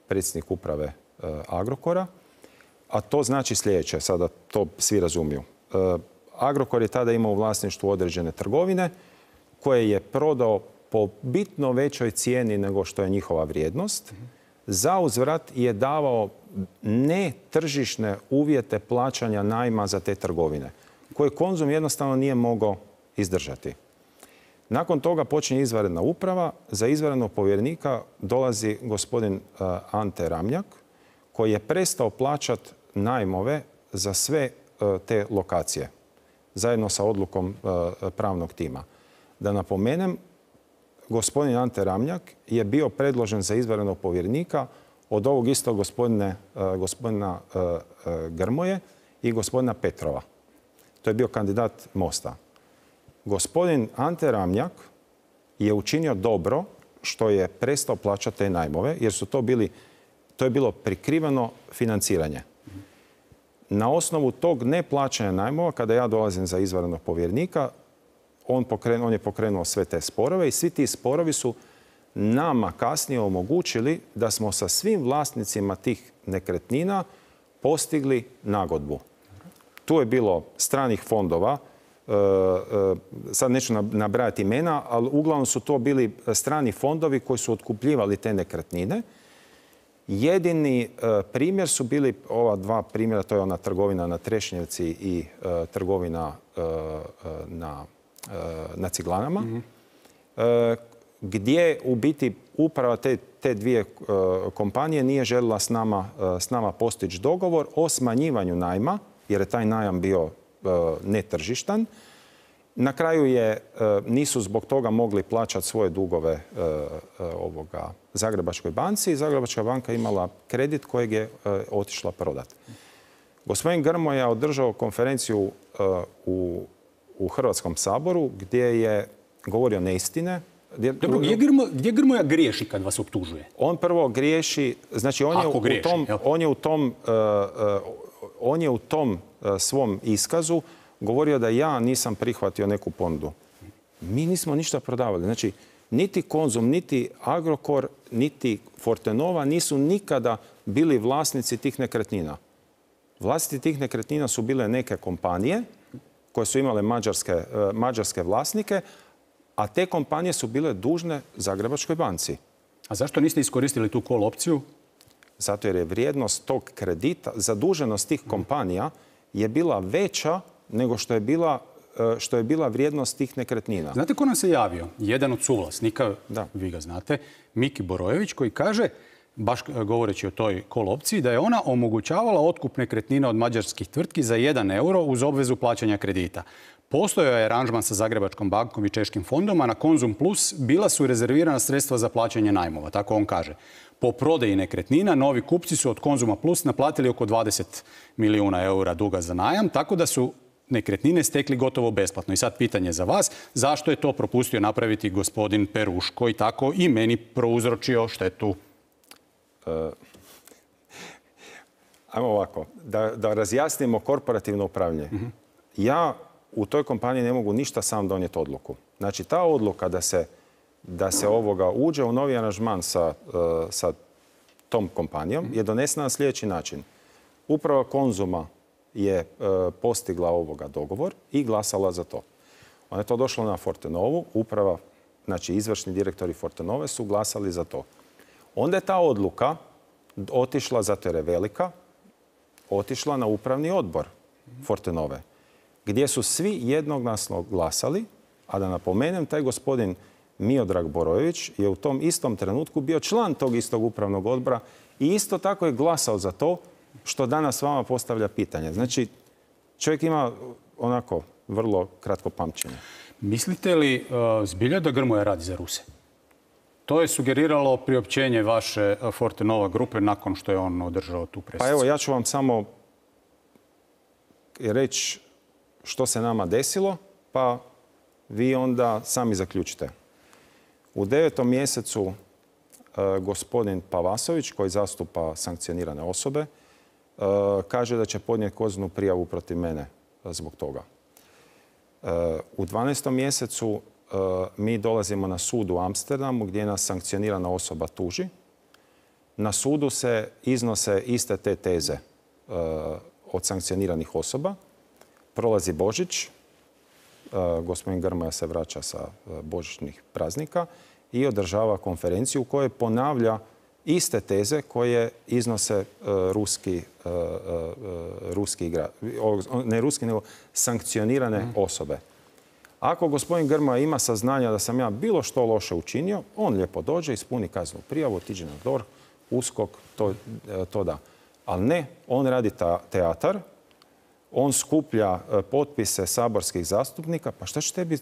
Speaker 2: predsjednik uprave uh, Agrokora. A to znači sljedeće, sada to svi razumiju. Uh, Agrokor je tada imao u vlasništvu određene trgovine koje je prodao po bitno većoj cijeni nego što je njihova vrijednost. Za uzvrat je davao netržišne uvjete plaćanja najma za te trgovine, koje Konzum jednostavno nije mogao izdržati. Nakon toga počinje izvanredna uprava. Za izvanrednog povjerenika dolazi gospodin Ante Ramljak, koji je prestao plaćati najmove za sve te lokacije, zajedno sa odlukom pravnog tima. Da napomenem, gospodin Ante Ramljak je bio predložen za izvanrednog povjerenika od ovog istog gospodine, gospodina Grmoje i gospodina Petrova. To je bio kandidat Mosta. Gospodin Ante Ramljak je učinio dobro što je prestao plaćati te najmove, jer su to bili, to je bilo prikriveno financiranje. Na osnovu tog neplaćanja najmova, kada ja dolazim za izvanrednog povjerenika, On, pokrenuo, on je pokrenuo sve te sporove i svi ti sporovi su nama kasnije omogućili da smo sa svim vlasnicima tih nekretnina postigli nagodbu. Tu je bilo stranih fondova, sad neću nabrajati imena, ali uglavnom su to bili strani fondovi koji su otkupljivali te nekretnine. Jedini primjer su bili ova dva primjera, to je ona trgovina na Trešnjevci i trgovina na, na Ciglanama, mm-hmm. gdje u biti uprava te, te dvije kompanije nije željela s nama, s nama postići dogovor o smanjivanju najma, jer je taj najam bio netržištan. Na kraju je, nisu zbog toga mogli plaćati svoje dugove ovoga Zagrebačkoj banci i Zagrebačka banka imala kredit kojeg je otišla prodati. Gospodin Grmoja je održao konferenciju u, u Hrvatskom saboru gdje je govorio neistine.
Speaker 1: Dobro, gdje, Grmo, gdje Grmoja griješi kad vas optužuje?
Speaker 2: On prvo griješi, znači on je u, griješi, u tom, on je u tom, uh, uh, on je u tom uh, svom iskazu govorio da ja nisam prihvatio neku ponudu. Mi nismo ništa prodavali. Znači, niti Konzum, niti Agrokor, niti Fortenova nisu nikada bili vlasnici tih nekretnina. Vlasnici tih nekretnina su bile neke kompanije koje su imale mađarske, uh, mađarske vlasnike, a te kompanije su bile dužne Zagrebačkoj banci.
Speaker 1: A zašto niste iskoristili tu call opciju?
Speaker 2: Zato jer je vrijednost tog kredita, zaduženost tih kompanija je bila veća nego što je bila, što je bila vrijednost tih nekretnina.
Speaker 1: Znate ko nam se javio? Jedan od suvlasnika, da. Vi ga znate, Miki Borojević, koji kaže, baš govoreći o toj call opciji, da je ona omogućavala otkup nekretnina od mađarskih tvrtki za jedan euro uz obvezu plaćanja kredita. Postojao je aranžman sa Zagrebačkom bankom i Češkim fondom, a na Konzum Plus bila su rezervirana sredstva za plaćanje najmova, tako on kaže. Po prodaji nekretnina, novi kupci su od Konzuma Plus naplatili oko dvadeset milijuna eura duga za najam, tako da su nekretnine stekli gotovo besplatno. I sad pitanje za vas, zašto je to propustio napraviti gospodin Peruško i tako i meni prouzročio štetu? Uh,
Speaker 2: ajmo ovako, da, da razjasnimo korporativno upravljanje. Mm-hmm. Ja u toj kompaniji ne mogu ništa sam donijeti odluku. Znači, ta odluka da se, da se ovoga uđe u novi aranžman sa, uh, sa tom kompanijom je donesena na sljedeći način. Uprava Konzuma je uh, postigla ovoga dogovor i glasala za to. Ona je to došlo na Fortenovu. Uprava, znači izvršni direktori Fortenove su glasali za to. Onda je ta odluka otišla, zato jer je velika, otišla na upravni odbor Fortenove, gdje su svi jednoglasno glasali, a da napomenem, taj gospodin Miodrag Borojević je u tom istom trenutku bio član tog istog upravnog odbora i isto tako je glasao za to što danas vama postavlja pitanje. Znači, čovjek ima onako vrlo kratko pamćenje.
Speaker 1: Mislite li uh, zbilja da Grmoja radi za Ruse? To je sugeriralo priopćenje vaše Fortenova grupe nakon što je on održao tu presicu.
Speaker 2: Pa evo, ja ću vam samo reći što se nama desilo, pa vi onda sami zaključite. U devetom mjesecu uh, gospodin Pavasović, koji zastupa sankcionirane osobe, uh, kaže da će podnijeti kaznenu prijavu protiv mene uh, zbog toga. Uh, u dvanaestom mjesecu uh, mi dolazimo na sud u Amsterdamu gdje nas sankcionirana osoba tuži. Na sudu se iznose iste te teze uh, od sankcioniranih osoba. Prolazi Božić, uh, gospodin Grmoja se vraća sa uh, božićnih praznika i održava konferenciju u kojoj ponavlja iste teze koje iznose uh, ruski, uh, uh, ruski igra, ne ruski, nego sankcionirane mm. osobe. Ako gospodin Grmoja ima saznanja da sam ja bilo što loše učinio, on lijepo dođe, ispuni kaznenu prijavu, otiđe na D O R H, USKOK, to, to da. Ali ne, on radi ta, teatar, on skuplja potpise saborskih zastupnika. Pa šta će tebi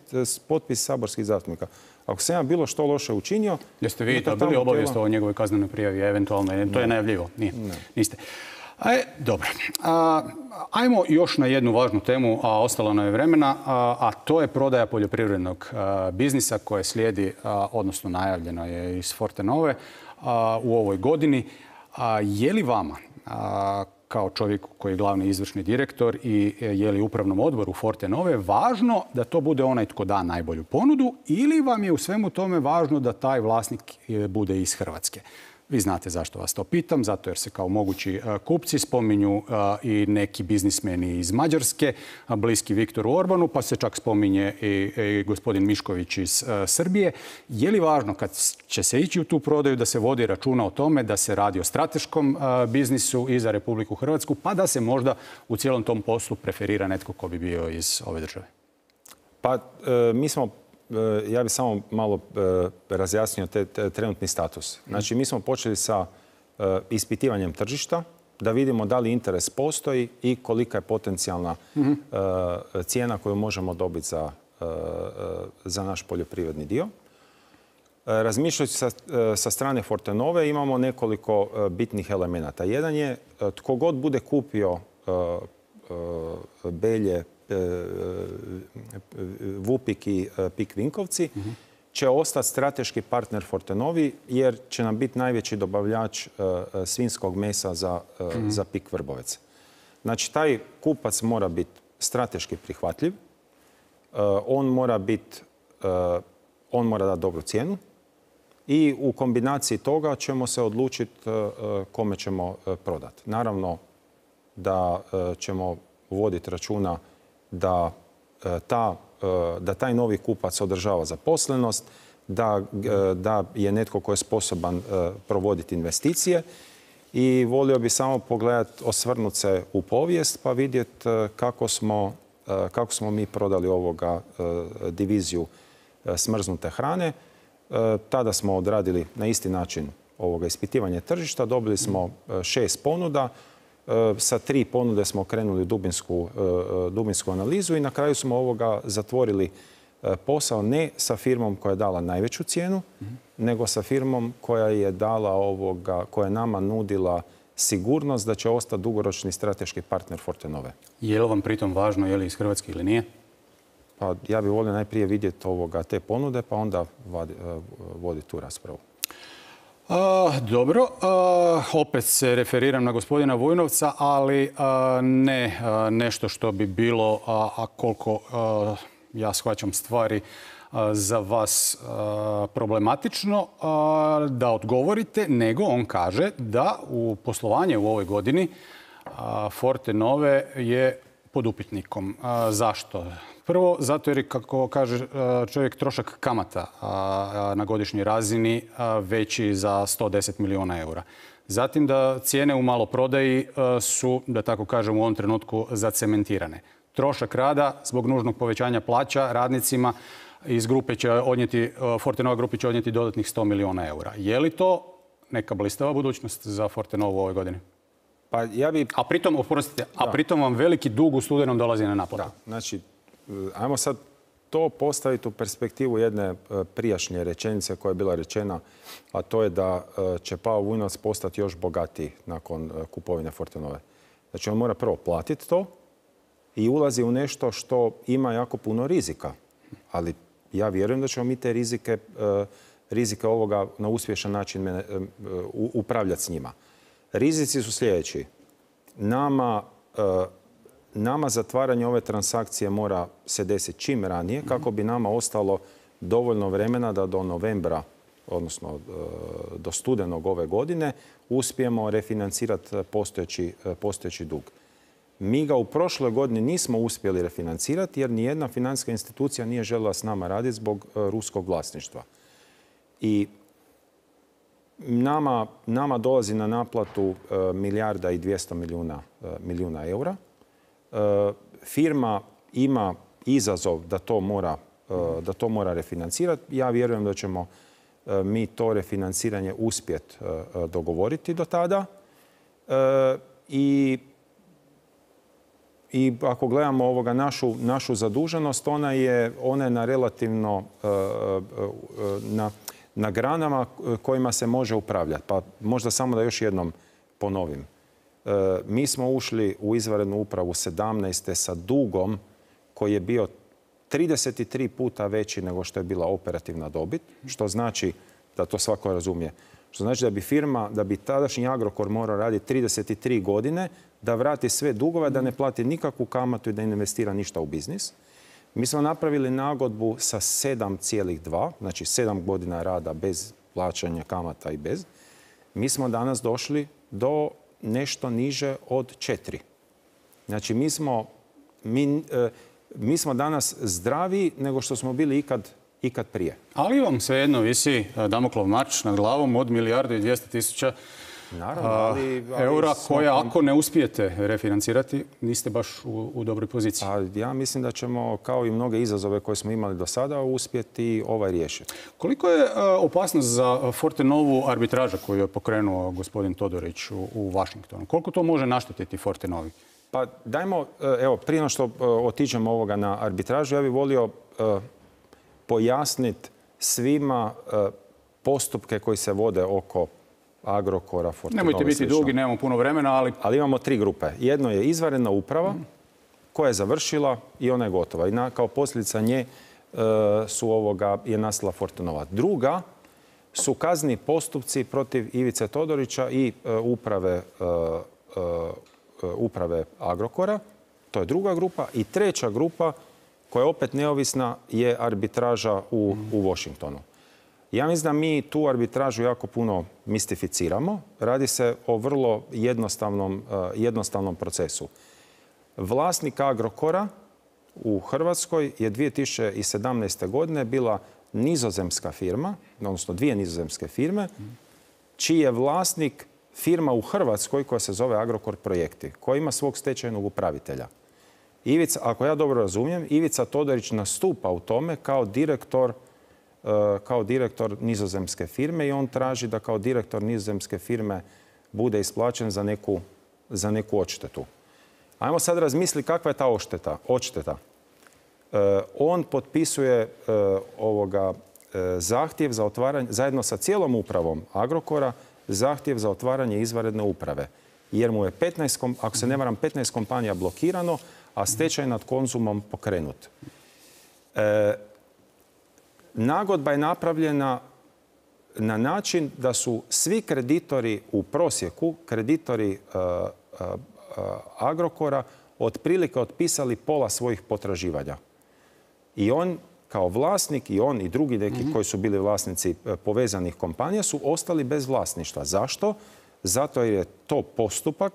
Speaker 2: potpis saborskih zastupnika? Ako sam ja bilo što loše učinio...
Speaker 1: Jeste vi dobili obavijest o njegovoj kaznenoj prijavi, eventualno? To ne. Je najavljivo? Nije. Ne. Niste. E, dobro. A, ajmo još na jednu važnu temu, a ostalo nam je vremena, a, a to je prodaja poljoprivrednog a, biznisa koje slijedi, a, odnosno najavljeno je iz Fortenove a, u ovoj godini. A, je li vama, a, kao čovjeku koji je glavni izvršni direktor i je li upravnom odboru Fortenove, važno da to bude onaj tko da najbolju ponudu ili vam je u svemu tome važno da taj vlasnik bude iz Hrvatske? Vi znate zašto vas to pitam, zato jer se kao mogući kupci spominju i neki biznismeni iz Mađarske, bliski Viktoru Orbanu, pa se čak spominje i gospodin Mišković iz Srbije. Je li važno kad će se ići u tu prodaju da se vodi računa o tome da se radi o strateškom biznisu i za Republiku Hrvatsku, pa da se možda u cijelom tom poslu preferira netko ko bi bio iz ove države?
Speaker 2: Pa mi smo, ja bih samo malo razjasnio te trenutni status. Znači, mi smo počeli sa ispitivanjem tržišta, da vidimo da li interes postoji i kolika je potencijalna cijena koju možemo dobiti za, za naš poljoprivredni dio. Razmišljajući sa, sa strane Fortenove imamo nekoliko bitnih elemenata. Jedan je tko god bude kupio Belje, Vupik i Pik Vinkovci će ostati strateški partner Fortenovi jer će nam biti najveći dobavljač svinjskog mesa za, za Pik Vrbovec. Znači, taj kupac mora biti strateški prihvatljiv, on mora biti, on mora dati dobru cijenu i u kombinaciji toga ćemo se odlučiti kome ćemo prodati. Naravno da ćemo voditi računa da, ta, da taj novi kupac održava zaposlenost, da, da je netko tko je sposoban provoditi investicije i volio bi samo pogledati, osvrnuti se u povijest pa vidjeti kako smo, kako smo mi prodali ovoga diviziju smrznute hrane. Tada smo odradili na isti način ovoga ispitivanje tržišta, dobili smo šest ponuda. Sa tri ponude smo krenuli u dubinsku, dubinsku analizu i na kraju smo ovoga zatvorili posao ne sa firmom koja je dala najveću cijenu, mm-hmm. nego sa firmom koja je dala ovoga, koja je nama nudila sigurnost da će ostati dugoročni strateški partner Fortenove.
Speaker 1: Je li vam pritom važno je li iz Hrvatske ili nije?
Speaker 2: Pa ja bih volio najprije vidjeti ovoga, te ponude pa onda voditi tu raspravu.
Speaker 1: A, dobro, a, opet se referiram na gospodina Vujnovca, ali a, ne a, nešto što bi bilo, a, a koliko a, ja shvaćam stvari, a, za vas a, problematično a, da odgovorite, nego on kaže da u poslovanje u ovoj godini a, Fortenove je pod upitnikom. A, zašto? Prvo, zato jer je, kako kaže čovjek, trošak kamata na godišnjoj razini veći za sto deset milijuna eura. Zatim da cijene u maloprodaji su, da tako kažem, u ovom trenutku zacementirane. Trošak rada zbog nužnog povećanja plaća radnicima iz grupe će odnijeti, Fortenova grupi će odnijeti dodatnih sto milijuna eura. Je li to neka blistava budućnost za Fortenovu u ovoj godini?
Speaker 2: Pa ja bi...
Speaker 1: A pritom, oprostite, a pritom vam veliki dug u studenom dolazi na naplatu.
Speaker 2: Da, znači, ajmo sad to postaviti u perspektivu jedne prijašnje rečenice koja je bila rečena, a to je da će Pavo Vujnovac postati još bogatiji nakon kupovine Fortenove. Znači, on mora prvo platiti to i ulazi u nešto što ima jako puno rizika. Ali ja vjerujem da ćemo mi te rizike, rizike ovoga na uspješan način upravljati s njima. Rizici su sljedeći. Nama... Nama zatvaranje ove transakcije mora se desiti čim ranije kako bi nama ostalo dovoljno vremena da do novembra, odnosno do studenog ove godine, uspijemo refinancirati postojeći, postojeći dug. Mi ga u prošloj godini nismo uspjeli refinancirati jer nijedna financijska institucija nije željela s nama raditi zbog ruskog vlasništva. I nama, nama dolazi na naplatu milijarda i dvjesto milijuna, milijuna eura. Firma ima izazov da to mora, da to mora refinancirati. Ja vjerujem da ćemo mi to refinanciranje uspjeti dogovoriti do tada. I, i ako gledamo ovoga našu, našu zaduženost, ona je, ona je na relativno na, na granama kojima se može upravljati. Pa možda samo da još jednom ponovim. Mi smo ušli u izvanrednu upravu sedamnaeste sa dugom koji je bio trideset tri puta veći nego što je bila operativna dobit, što znači, da to svako razumije, što znači da bi firma, da bi tadašnji Agrokor morao raditi trideset tri godine, da vrati sve dugove, da ne plati nikakvu kamatu i da ne investira ništa u biznis. Mi smo napravili nagodbu sa sedam zarez dva, znači sedam godina rada bez plaćanja kamata i bez. mi smo danas došli do nešto niže od četiri. Znači, mi smo, mi, mi smo danas zdraviji nego što smo bili ikad, ikad prije.
Speaker 1: Ali vam svejedno visi Damoklov mač nad glavom od milijardu i dvjesto tisuća
Speaker 2: Naravno, ali, ali
Speaker 1: eura
Speaker 2: smo...
Speaker 1: koja ako ne uspijete refinancirati, niste baš u, u dobroj poziciji.
Speaker 2: A ja mislim da ćemo, kao i mnoge izazove koje smo imali do sada, uspjeti ovaj riješiti.
Speaker 1: Koliko je opasnost za Fortenovu arbitraža koju je pokrenuo gospodin Todorić u, u Washingtonu? Koliko to može naštetiti Fortenovi?
Speaker 2: Pa dajmo, evo, prije no što otiđemo ovoga na arbitražu, ja bih volio uh, pojasniti svima uh, postupke koji se vode oko Agrokora, Fortenove.
Speaker 1: Nemojte biti
Speaker 2: slično.
Speaker 1: dugi, nemamo puno vremena, ali...
Speaker 2: Ali imamo tri grupe. Jedno je izvanredna uprava mm. koja je završila i ona je gotova. I na, kao posljedica nje uh, su ovoga, je nastala Fortenova. Druga su kazneni postupci protiv Ivice Todorića i uh, uprave, uh, uh, uprave Agrokora. To je druga grupa. I treća grupa, koja je opet neovisna, je arbitraža u, mm. u Washingtonu. Ja mislim da mi tu arbitražu jako puno mistificiramo. Radi se o vrlo jednostavnom, jednostavnom procesu. Vlasnik Agrokora u Hrvatskoj je dvije tisuće sedamnaeste. godine bila nizozemska firma, odnosno dvije nizozemske firme, čiji je vlasnik firma u Hrvatskoj koja se zove Agrokor Projekti, koja ima svog stečajnog upravitelja. Ivica, ako ja dobro razumijem, Ivica Todorić nastupa u tome kao direktor kao direktor nizozemske firme i on traži da kao direktor nizozemske firme bude isplaćen za neku, za neku odštetu. Ajmo sad razmisliti kakva je ta odšteta. odšteta. E, on potpisuje e, ovoga, e, zahtjev za otvaranje, zajedno sa cijelom upravom Agrokora, zahtjev za otvaranje izvanredne uprave. Jer mu je petnaest, ako se ne varam, petnaest kompanija blokirano, a stečaj nad Konzumom pokrenut. E, Nagodba je napravljena na način da su svi kreditori u prosjeku, kreditori uh, uh, uh, Agrokora, otprilike otpisali pola svojih potraživanja. I on kao vlasnik, i on i drugi neki mm-hmm. koji su bili vlasnici uh, povezanih kompanija, su ostali bez vlasništva. Zašto? Zato jer je to postupak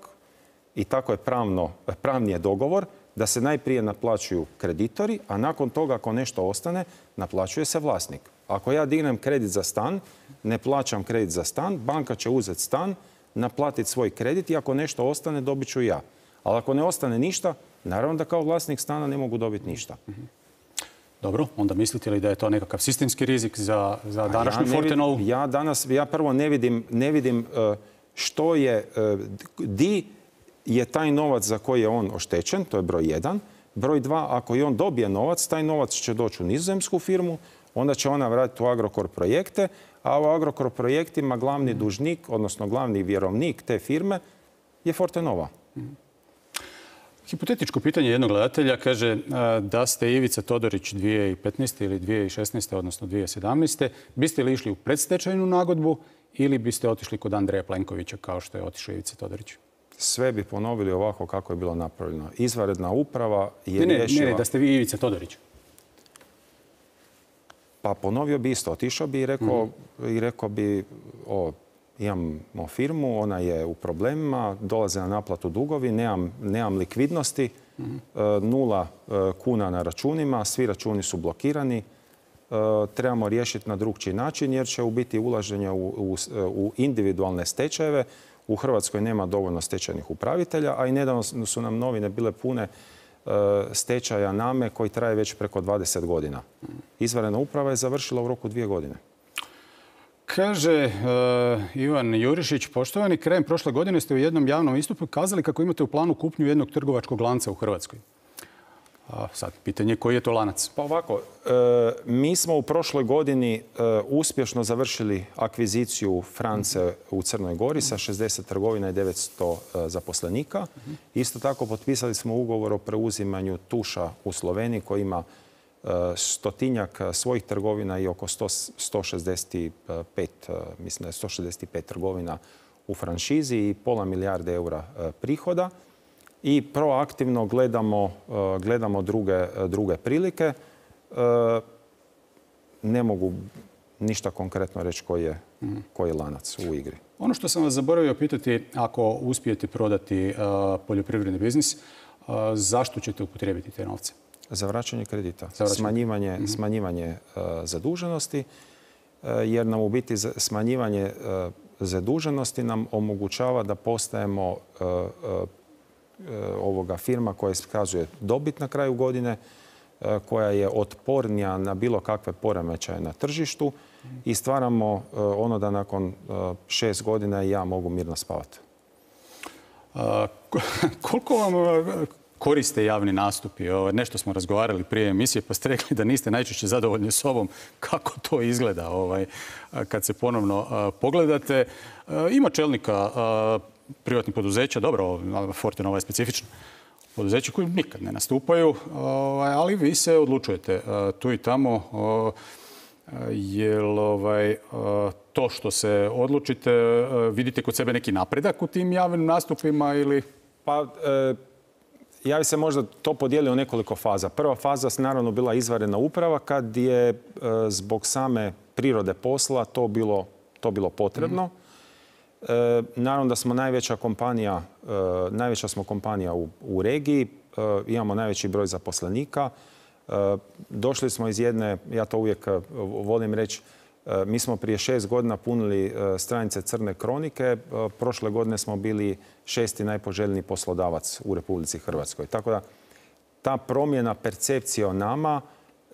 Speaker 2: i tako je pravno, pravni je dogovor da se najprije naplaćuju kreditori, a nakon toga ako nešto ostane, naplaćuje se vlasnik. Ako ja dignem kredit za stan, ne plaćam kredit za stan, banka će uzeti stan, naplatiti svoj kredit i ako nešto ostane, dobit ću ja. Ali ako ne ostane ništa, naravno da kao vlasnik stana ne mogu dobiti ništa.
Speaker 1: Dobro, onda mislite li da je to nekakav sistemski rizik za, za današnju
Speaker 2: ja
Speaker 1: Fortenovu?
Speaker 2: Ja danas, ja prvo ne vidim, ne vidim uh, što je, uh, di je taj novac za koji je on oštećen, to je broj jedan. Broj dva, ako i on dobije novac, taj novac će doći u nizozemsku firmu, onda će ona vratiti u Agrokor Projekte, a u Agrokor Projektima glavni dužnik, odnosno glavni vjerovnik te firme je Fortenova.
Speaker 1: Hipotetičko pitanje jednog gledatelja kaže da ste Ivica Todorić dvije tisuće petnaeste. ili dvije tisuće šesnaeste. odnosno dvije tisuće sedamnaeste. biste li išli u predstečajnu nagodbu ili biste otišli kod Andreja Plenkovića kao što je otišao Ivica Todorić?
Speaker 2: Sve bi ponovili ovako kako je bilo napravljeno. Izvanredna uprava je
Speaker 1: ne, ne,
Speaker 2: riješila...
Speaker 1: Ne, ne, da ste vi Ivica Todorić.
Speaker 2: Pa ponovio bi isto. Otišao bi i rekao, mm. i rekao bi, o, imamo firmu, ona je u problemima, dolaze na naplatu dugovi, nemam, nemam likvidnosti, mm. nula kuna na računima, svi računi su blokirani, trebamo riješiti na drugčiji način jer će u biti ulaženje u, u, u individualne stečajeve. U Hrvatskoj nema dovoljno stečajnih upravitelja, a i nedavno su nam novine bile pune stečaja Name koji traje već preko dvadeset godina. Izvanredna uprava je završila u roku dvije godine.
Speaker 1: Kaže uh, Ivan Jurišić, poštovani, krajem prošle godine ste u jednom javnom istupu kazali kako imate u planu kupnju jednog trgovačkog lanca u Hrvatskoj. A sad, pitanje koji je to lanac?
Speaker 2: Pa ovako, e, mi smo u prošloj godini e, uspješno završili akviziciju France u Crnoj Gori sa šezdeset trgovina i devetsto e, zaposlenika. Isto tako potpisali smo ugovor o preuzimanju Tuša u Sloveniji koji ima e, stotinjak svojih trgovina i oko sto šezdeset pet, e, mislim da je sto šezdeset pet trgovina u franšizi i pola milijarde eura e, prihoda. I proaktivno gledamo, gledamo druge, druge prilike. Ne mogu ništa konkretno reći koji je, koji je lanac u igri.
Speaker 1: Ono što sam vas zaboravio pitati, ako uspijete prodati uh, poljoprivredni biznis, uh, zašto ćete upotrijebiti te novce?
Speaker 2: Za vraćanje kredita,
Speaker 1: Za vraćanje.
Speaker 2: smanjivanje, mm-hmm. smanjivanje uh, zaduženosti, uh, jer nam u biti smanjivanje uh, zaduženosti nam omogućava da postajemo uh, uh, ovoga firma koja iskazuje dobit na kraju godine, koja je otpornija na bilo kakve poremećaje na tržištu i stvaramo ono da nakon šest godina i ja mogu mirno spavati.
Speaker 1: A, koliko vam koriste javni nastupi? Nešto smo razgovarali prije emisije pa ste rekli da niste najčešće zadovoljni sobom. Kako to izgleda ovaj, kad se ponovno pogledate? Ima čelnika privatnih poduzeća, dobro, Fortenova je specifična, poduzeća koji nikad ne nastupaju, ali vi se odlučujete tu i tamo. Jel ovaj, to što se odlučite, vidite kod sebe neki napredak u tim javnim nastupima ili?
Speaker 2: Pa, e, ja bi se možda to podijelio u nekoliko faza. Prva faza je naravno bila izvanredna uprava kad je e, zbog same prirode posla to bilo, to bilo potrebno. Mm-hmm. E, naravno da smo najveća kompanija, e, najveća smo kompanija u, u regiji, e, imamo najveći broj zaposlenika. E, došli smo iz jedne, ja to uvijek volim reći, e, mi smo prije šest godina punili e, stranice Crne kronike, e, prošle godine smo bili šesti najpoželjniji poslodavac u Republici Hrvatskoj. Tako da ta promjena percepcije o nama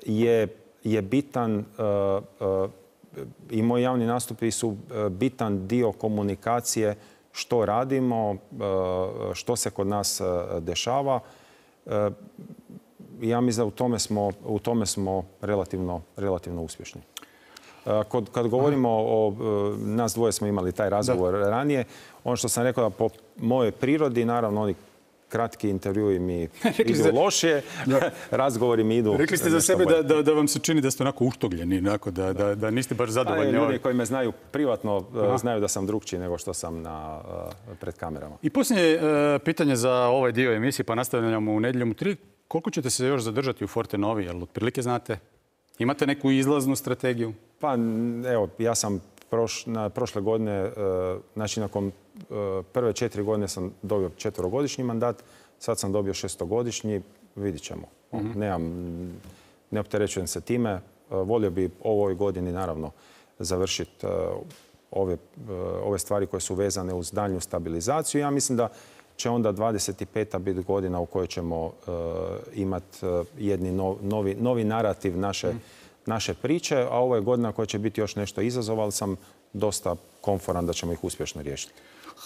Speaker 2: je, je bitan, e, e, i moji javni nastupi su bitan dio komunikacije što radimo, što se kod nas dešava. Ja mislim da u tome smo, u tome smo relativno, relativno uspješni. Kod, kad govorimo o, nas dvoje smo imali taj razgovor da. ranije, ono što sam rekao da po mojoj prirodi, naravno oni kratki intervjui mi idu za... lošije, razgovori mi idu...
Speaker 1: Rekli ste za sebe da, da, da vam se čini da ste onako uštogljeni, onako, da, da, da niste baš zadovoljni.
Speaker 2: Ljudi koji me znaju privatno Aha. znaju da sam drugčiji nego što sam na, pred kamerama.
Speaker 1: I posljednje uh, pitanje za ovaj dio emisije, pa nastavljamo u Nedjeljom u tri. Koliko ćete se još zadržati u Fortenovi? Jel otprilike znate? Imate neku izlaznu strategiju?
Speaker 2: Pa evo, ja sam proš, na, prošle godine, uh, znači nakon uh, prve četiri godine sam dobio četverogodišnji mandat, sad sam dobio šestogodišnji, vidit ćemo. Mm-hmm. Nemam, ne opterećujem se time. Uh, volio bi ovoj godini naravno završiti uh, ove, uh, ove stvari koje su vezane uz daljnju stabilizaciju. Ja mislim da će onda dvadeset peta biti godina u kojoj ćemo uh, imati uh, jedni no, novi, novi narativ naše mm. naše priče, a ovo je godina koja će biti još nešto izazov, ali sam dosta komforan da ćemo ih uspješno riješiti.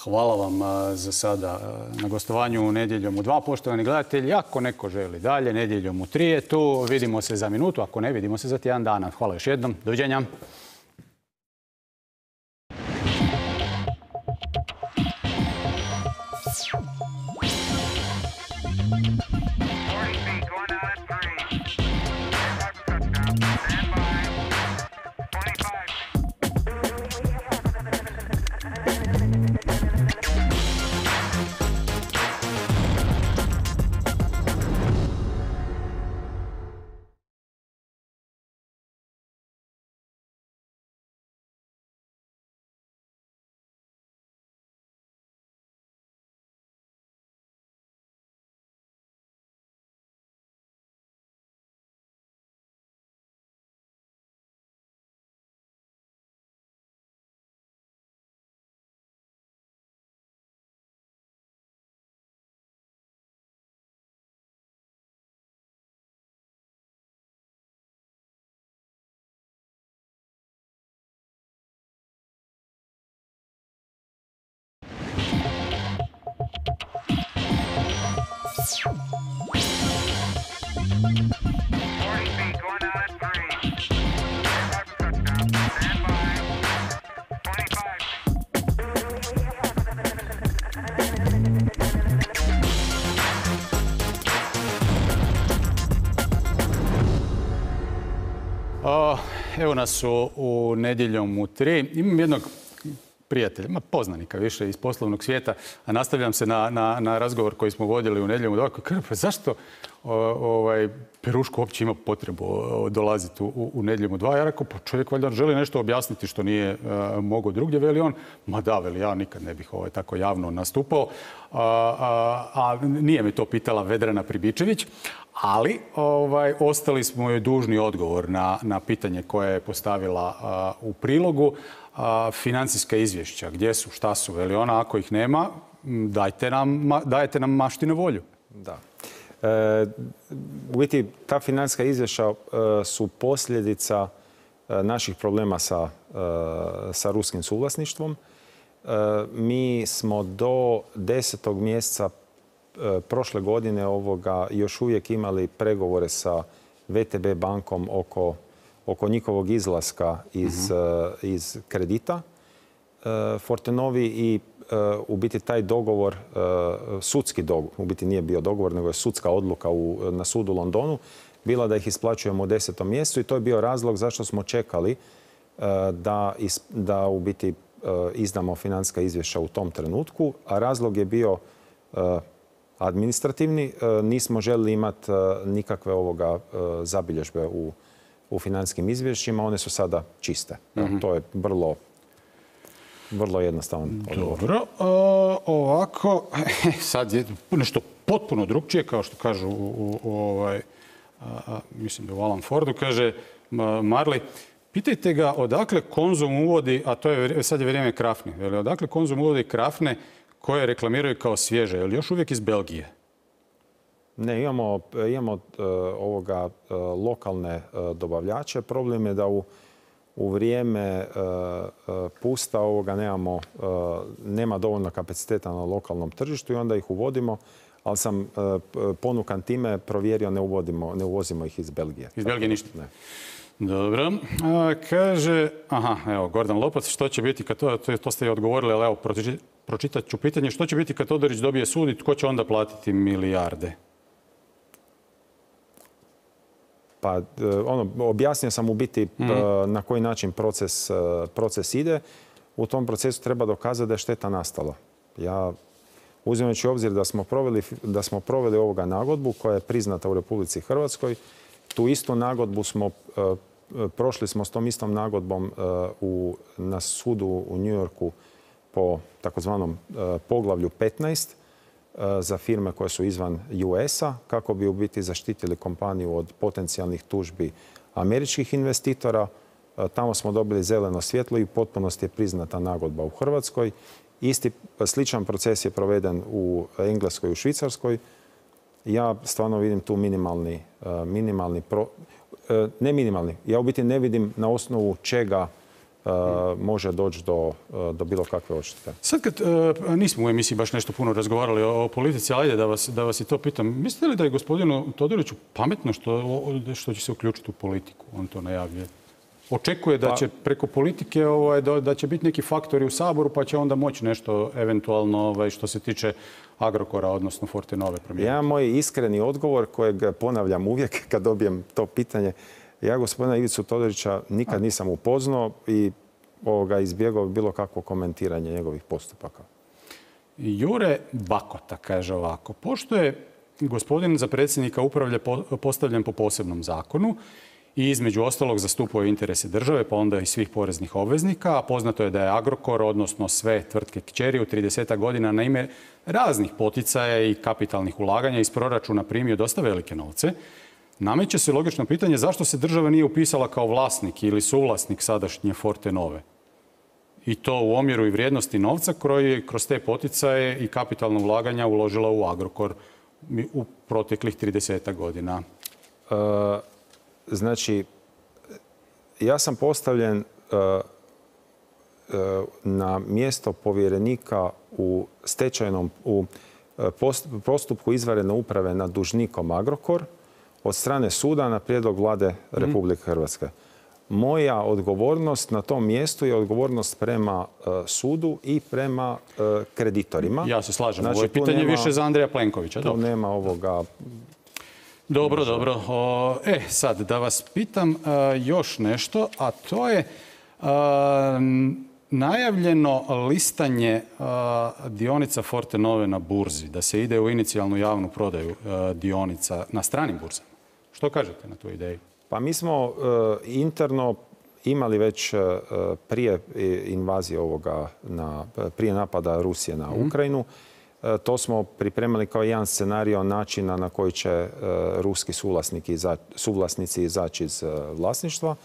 Speaker 1: Hvala vam za sada na gostovanju u Nedjeljom u dva, poštovani gledatelji. Ako neko želi dalje, Nedjeljom u tri je tu. Vidimo se za minutu, ako ne, vidimo se za tjedan dana. Hvala još jednom. Doviđenja. Evo nas u, u Nedjeljom u tri. Imam jednog prijatelja, poznanika više iz poslovnog svijeta, a nastavljam se na, na, na razgovor koji smo vodili u Nedjeljom u dva. Kaže, pa zašto o, ovaj, Peruško uopće ima potrebu dolaziti u, u Nedjeljom u dva? Ja rekao, pa čovjek valjda želi nešto objasniti što nije uh, mogao drugdje. Veli on, ma da, veli, ja nikad ne bih ovaj, tako javno nastupao. A, a, a nije me to pitala Vedrana Pribičević, ali ovaj, ostali smo joj dužni odgovor na, na pitanje koje je postavila a, u prilogu. A, financijska izvješća, gdje su, šta su, veli ona, ako ih nema, dajte nam, dajete nam maštinu volju.
Speaker 2: Da. E, u biti, ta financijska izvješća e, su posljedica e, naših problema sa, e, sa ruskim suvlasništvom. E, mi smo do desetog mjeseca e, prošle godine ovoga još uvijek imali pregovore sa V T B bankom oko, oko njihovog izlaska iz, uh-huh. e, iz kredita e, Fortenovi i u biti taj dogovor, sudski dogovor, u biti nije bio dogovor, nego je sudska odluka u, na sudu u Londonu, bila da ih isplaćujemo u desetom mjesecu i to je bio razlog zašto smo čekali da, is, da u biti izdamo financijska izvješća u tom trenutku, a razlog je bio administrativni. Nismo željeli imati nikakve ovoga zabilježbe u, u financijskim izvješćima, one su sada čiste. Mm-hmm. To je vrlo Vrlo jednostavan odgovor.
Speaker 1: Dobro. E, ovako, sad je nešto potpuno drugčije, kao što kažu u, u, u ovaj, a, mislim da u Alan Fordu, kaže Marley, pitajte ga odakle Konzum uvodi, a to je sad je vrijeme krafne, jel, odakle Konzum uvodi krafne koje reklamiraju kao svježe, je li još uvijek iz Belgije?
Speaker 2: Ne, imamo, imamo uh, ovoga uh, lokalne uh, dobavljače. Problem je da u U vrijeme uh, pusta ovoga nemamo, uh, nema dovoljno kapaciteta na lokalnom tržištu i onda ih uvodimo, ali sam uh, ponukan time provjerio, ne, uvodimo, ne uvozimo ih iz Belgije.
Speaker 1: Iz Belgije ništa?
Speaker 2: Ne.
Speaker 1: Dobro. A, kaže, aha, evo, Gordan Lopac, što će biti kad to, to, to ste i odgovorili, ali evo, pročitat ću pitanje, što će biti kad Todorić dobije sud i tko će onda platiti milijarde?
Speaker 2: Pa ono, objasnio sam u biti mm. na koji način proces, proces ide. U tom procesu treba dokazati da je šteta nastala. Ja, uzimajući u obzir da smo proveli, da smo proveli ovoga nagodbu koja je priznata u Republici Hrvatskoj, tu istu nagodbu smo, prošli smo s tom istom nagodbom u, na sudu u New Yorku po takozvanom poglavlju petnaest za firme koje su izvan U S-a, kako bi u biti zaštitili kompaniju od potencijalnih tužbi američkih investitora. Tamo smo dobili zeleno svjetlo i u potpunosti je priznata nagodba u Hrvatskoj. Isti sličan proces je proveden u Engleskoj i u Švicarskoj. Ja stvarno vidim tu minimalni, minimalni pro, ne minimalni, ja u biti ne vidim na osnovu čega Uh, može doći do, uh, do bilo kakve odštete.
Speaker 1: Sad kad uh, nismo u emisiji baš nešto puno razgovarali o, o politici, ajde da vas, da vas i to pitam. Mislite li da je gospodinu Todoriću pametno što, što će se uključiti u politiku? On to najavljuje. Očekuje da će preko politike ovaj, da, da će biti neki faktori u Saboru pa će onda moći nešto eventualno ovaj, što se tiče Agrokora, odnosno Fortenove promijeniti.
Speaker 2: Ja moj iskreni odgovor kojeg ponavljam uvijek kad dobijem to pitanje. Ja gospodina Ivicu Todorića nikad nisam upoznao i ovoga, izbjegao bilo kakvo komentiranje njegovih postupaka.
Speaker 1: Jure Bakota kaže ovako. Pošto je gospodin za predsjednika upravlja postavljen po posebnom zakonu i između ostalog zastupuje interese države, pa onda i svih poreznih obveznika, a poznato je da je Agrokor, odnosno sve tvrtke kćeri u trideset godina na ime raznih poticaja i kapitalnih ulaganja iz proračuna primio dosta velike novce, nameće se logično pitanje zašto se država nije upisala kao vlasnik ili suvlasnik sadašnje Fortenove. I to u omjeru i vrijednosti novca koji je kroz te poticaje i kapitalno ulaganja uložila u Agrokor u proteklih trideset godina.
Speaker 2: E, znači, ja sam postavljen e, e, na mjesto povjerenika u stečajnom, u postupku izvanredne uprave nad dužnikom Agrokor od strane suda na prijedlog Vlade Republike Hrvatske. Moja odgovornost na tom mjestu je odgovornost prema uh, sudu i prema uh, kreditorima.
Speaker 1: Ja se slažem. Znači, ovo je pitanje nema, više za Andreja Plenkovića.
Speaker 2: Tu dobro. Nema ovoga...
Speaker 1: Dobro, dobro. O, e, sad da vas pitam uh, još nešto, a to je... Uh, najavljeno listanje dionica Fortenove na burzi, da se ide u inicijalnu javnu prodaju dionica na stranim burzama. Što kažete na tu ideju?
Speaker 2: Pa mi smo interno imali već prije invazije ovoga, prije napada Rusije na Ukrajinu. To smo pripremali kao jedan scenario načina na koji će ruski suvlasnici izaći iz vlasništva.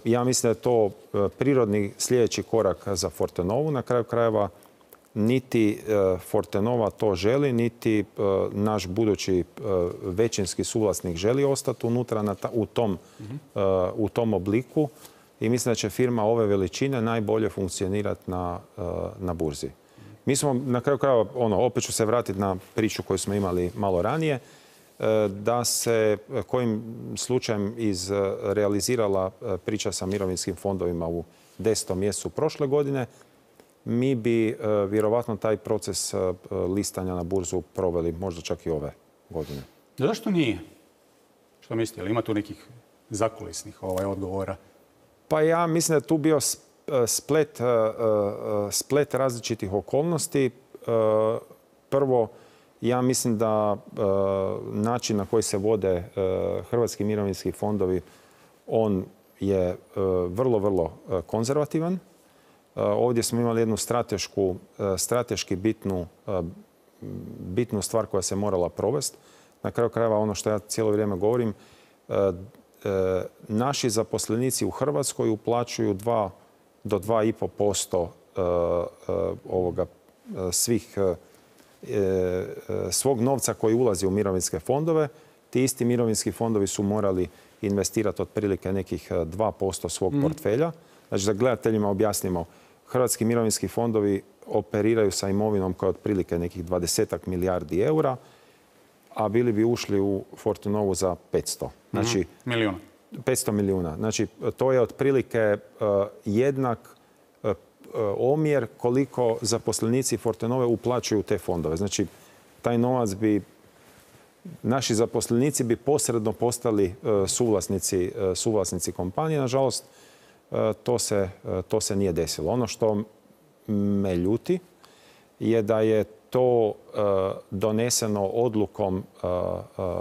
Speaker 2: Ja mislim da je to prirodni sljedeći korak za Fortenovu. Na kraju krajeva niti Fortenova to želi, niti naš budući većinski suvlasnik želi ostati unutra u tom, u tom obliku. I mislim da će firma ove veličine najbolje funkcionirati na, na burzi. Mi smo na kraju krajeva, ono, opet ću se vratiti na priču koju smo imali malo ranije, da se kojim slučajem izrealizirala priča sa mirovinskim fondovima u desetom mjesecu prošle godine, mi bi vjerovatno taj proces listanja na burzu proveli možda čak i ove godine.
Speaker 1: Zašto nije? Što mislite? Ili ima tu nekih zakulisnih ovaj, odgovora?
Speaker 2: Pa ja mislim da je tu bio splet, splet različitih okolnosti. Prvo, ja mislim da način na koji se vode hrvatski mirovinski fondovi, on je vrlo, vrlo konzervativan. Ovdje smo imali jednu stratešku, strateški bitnu, bitnu stvar koja se morala provesti. Na kraju krajeva ono što ja cijelo vrijeme govorim, naši zaposlenici u Hrvatskoj uplaćuju dva do dva i pol posto ovoga svih svog novca koji ulazi u mirovinske fondove. Ti isti mirovinski fondovi su morali investirati otprilike nekih dva posto svog portfelja. Znači da gledateljima objasnimo, hrvatski mirovinski fondovi operiraju sa imovinom koja je otprilike nekih dvadesetak milijardi eura, a bili bi ušli u Fortenovu za petsto. Znači,
Speaker 1: milijuna.
Speaker 2: petsto milijuna. Znači, to je otprilike jednak omjer koliko zaposlenici Fortenove uplaćuju te fondove. Znači, taj novac bi, naši zaposlenici bi posredno postali suvlasnici, suvlasnici kompanije. Nažalost, to se, to se nije desilo. Ono što me ljuti je da je to doneseno odlukom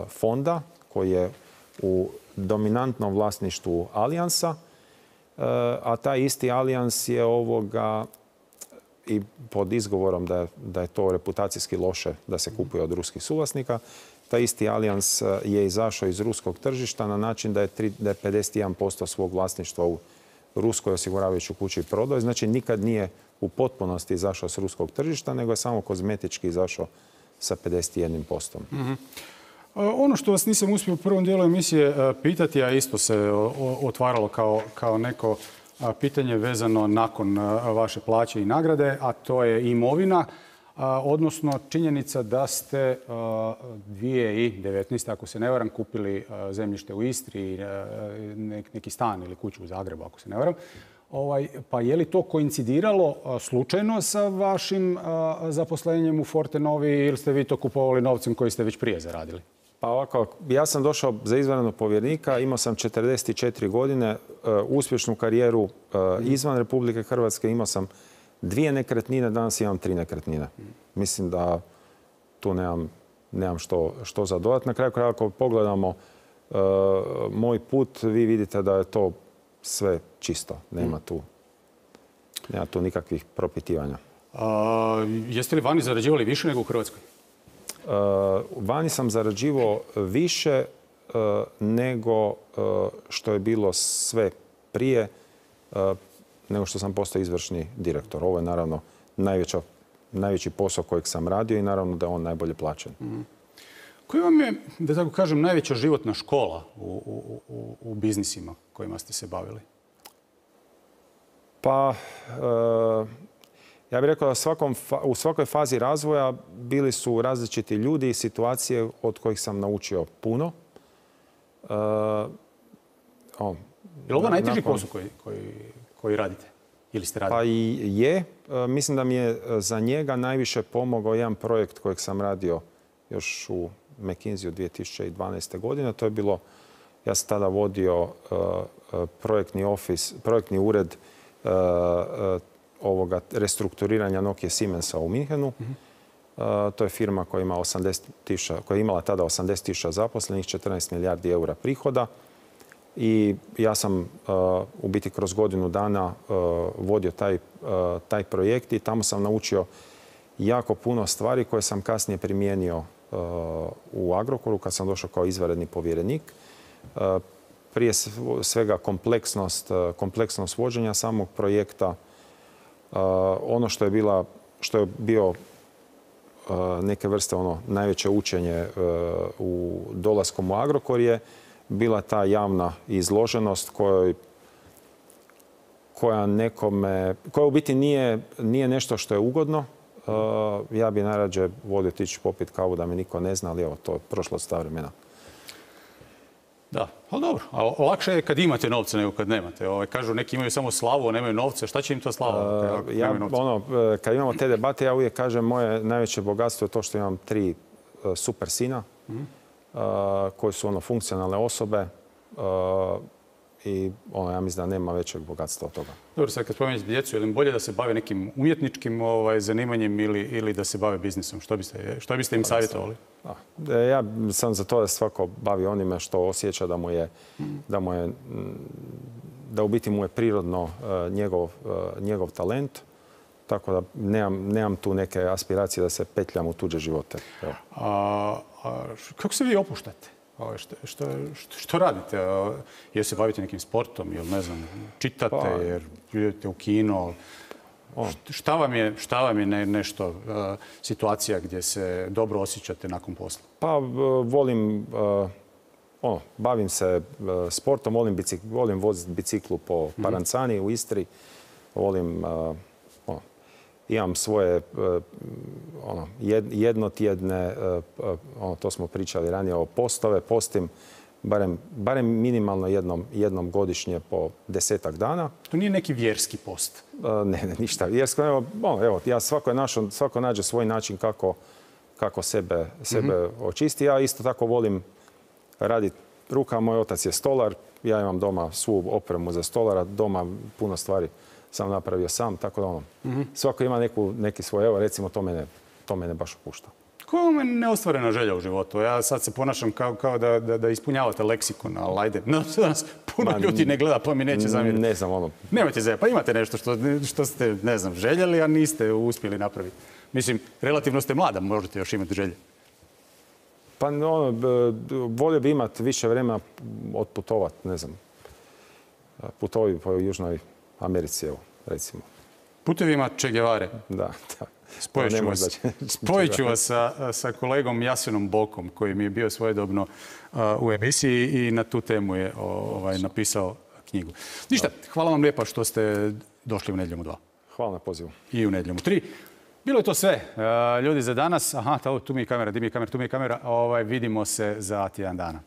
Speaker 2: fonda koji je u dominantnom vlasništvu Alijansa, a taj isti Alijans je ovoga i pod izgovorom da je, da je to reputacijski loše da se kupuje od ruskih suvlasnika. Taj isti Alijans je izašao iz ruskog tržišta na način da je, tri, da je pedeset jedan posto svog vlasništva u ruskoj osiguravajućoj kući prodao. Znači nikad nije u potpunosti izašao s ruskog tržišta, nego je samo kozmetički izašao sa pedeset jedan posto.
Speaker 1: Mm-hmm. Ono što vas nisam uspio u prvom dijelu emisije pitati, a isto se otvaralo kao, kao neko pitanje vezano nakon vaše plaće i nagrade, a to je imovina, odnosno činjenica da ste dvije tisuće devetnaeste. ako se ne varam, kupili zemljište u Istri, neki stan ili kuću u Zagrebu, ako se ne varam. Ovaj, pa je li to koincidiralo slučajno sa vašim zaposlenjem u Fortenovi ili ste vi to kupovali novcem koji ste već prije zaradili?
Speaker 2: Pa ovako, ja sam došao za izvanrednog povjerenika, imao sam četrdeset četiri godine, uspješnu karijeru izvan Republike Hrvatske, imao sam dvije nekretnine, danas imam tri nekretnine. Mislim da tu nemam, nemam što, što za dodat. Na kraju krajeva, ako pogledamo uh, moj put, vi vidite da je to sve čisto. Nema tu, nema tu nikakvih propitivanja.
Speaker 1: A, jeste li vani zarađivali više nego u Hrvatskoj?
Speaker 2: Uh, vani sam zarađivao više uh, nego uh, što je bilo sve prije, uh, nego što sam postao izvršni direktor. Ovo je naravno najveća, najveći posao kojeg sam radio i naravno da je on najbolje plaćen. Mm.
Speaker 1: Koji vam je, da tako kažem, najveća životna škola u, u, u, u biznisima kojima ste se bavili?
Speaker 2: Pa, uh, ja bih rekao da svakom, u svakoj fazi razvoja bili su različiti ljudi i situacije od kojih sam naučio puno. Uh,
Speaker 1: o, je li ovo najteži posao koji, koji, koji radite? Ili ste radili?
Speaker 2: Pa i je. Uh, mislim da mi je za njega najviše pomogao jedan projekt kojeg sam radio još u McKinsey-u dvije tisuće dvanaeste. godine. To je bilo, ja sam tada vodio uh, projektni office, projektni ured ovoga restrukturiranja Nokia Siemensa u Minhenu. To je firma koja, ima osamdeset tisuća, koja je imala tada osamdeset tisuća zaposlenih, četrnaest milijardi eura prihoda. I ja sam u biti kroz godinu dana vodio taj, taj projekt i tamo sam naučio jako puno stvari koje sam kasnije primijenio u Agrokoru kad sam došao kao izvanredni povjerenik. Prije svega kompleksnost, kompleksnost vođenja samog projekta. Ono što je, bila, što je bio neke vrste ono najveće učenje u dolaskom u Agrokor je bila ta javna izloženost kojoj, koja nekome, koja u biti nije, nije nešto što je ugodno. Ja bi najrađe volio otići popiti kavu da me niko ne zna, ali evo, to je prošlo sta vremena.
Speaker 1: Da, ali dobro. A lakše je kad imate novce nego kad nemate. Ovaj, kažu neki imaju samo slavu, a nemaju novce. Šta će im to slava?
Speaker 2: Uh, ja, ono, kad imamo te debate, ja uvijek kažem moje najveće bogatstvo je to što imam tri uh, super sina mm-hmm. uh, koji su ono funkcionalne osobe uh, i ono, ja mislim da nema većeg bogatstva od toga. Dobro, sad kad spomenete djecu, je li im bolje da se bave nekim umjetničkim ovaj, zanimanjem ili, ili da se bave biznisom? Što biste, što biste im savjetovali? Da, ja sam za to da svako bavi onime što osjeća da mu je, da mu je, da u biti mu je prirodno uh, njegov, uh, njegov talent. Tako da nemam, nemam tu neke aspiracije da se petljam u tuđe živote.
Speaker 1: A, a kako se vi opuštate? Što, što, što, što radite? Jel se bavite nekim sportom? Jel ne znam, čitate? Pa, jer idete u kino? Šta vam je, šta vam je ne, nešto, uh, situacija gdje se dobro osjećate nakon posla?
Speaker 2: Pa volim, uh, ono, bavim se uh, sportom, volim, bicik, volim voziti biciklu po Parancani mm-hmm. u Istri. Volim, uh, ono, imam svoje uh, ono, jednotjedne, uh, ono, to smo pričali ranije o postove, postim barem, barem minimalno jednom, jednom godišnje po desetak dana.
Speaker 1: To nije neki vjerski post?
Speaker 2: Uh, ne, ne, ništa vjersko. Evo, ono, evo, ja svako, je našo, svako nađe svoj način kako, kako sebe, sebe mm-hmm. očisti. Ja isto tako volim raditi ruka. Moj otac je stolar. Ja imam doma svu opremu za stolara. Doma puno stvari sam napravio sam. Tako da ono, mm-hmm. svako ima neku, neki svoj, evo recimo, to mene, to mene baš opušta.
Speaker 1: Koja je neostvarena želja u životu? Ja sad se ponašam kao, kao da, da, da ispunjavate leksikon, ali ajde. No, danas puno Ma, ljudi ne gleda, pa mi neće zamjeriti.
Speaker 2: Ne znam, ono...
Speaker 1: Nemojte zajeti, pa imate nešto što, što ste, ne znam, željeli, a niste uspjeli napraviti. Mislim, relativno ste mlada, možete još imati želje.
Speaker 2: Pa ono, volio bi imati više vremena otputovati, ne znam. Putovi po Južnoj Americi, evo, recimo.
Speaker 1: Putevima Che Guevare.
Speaker 2: Da, da.
Speaker 1: Spojit ću vas, spojit ću vas sa, sa kolegom Jasenom Bokom, koji mi je bio svojedobno uh, u emisiji i na tu temu je ovaj, napisao knjigu. Ništa, hvala vam lijepa što ste došli u Nedjeljom u dva.
Speaker 2: Hvala na pozivu.
Speaker 1: I u Nedjeljom u tri. Bilo je to sve. Uh, ljudi za danas. Aha, tu mi je kamera, di mi je kamera, tu mi je kamera. Ovaj, vidimo se za tjedan dana.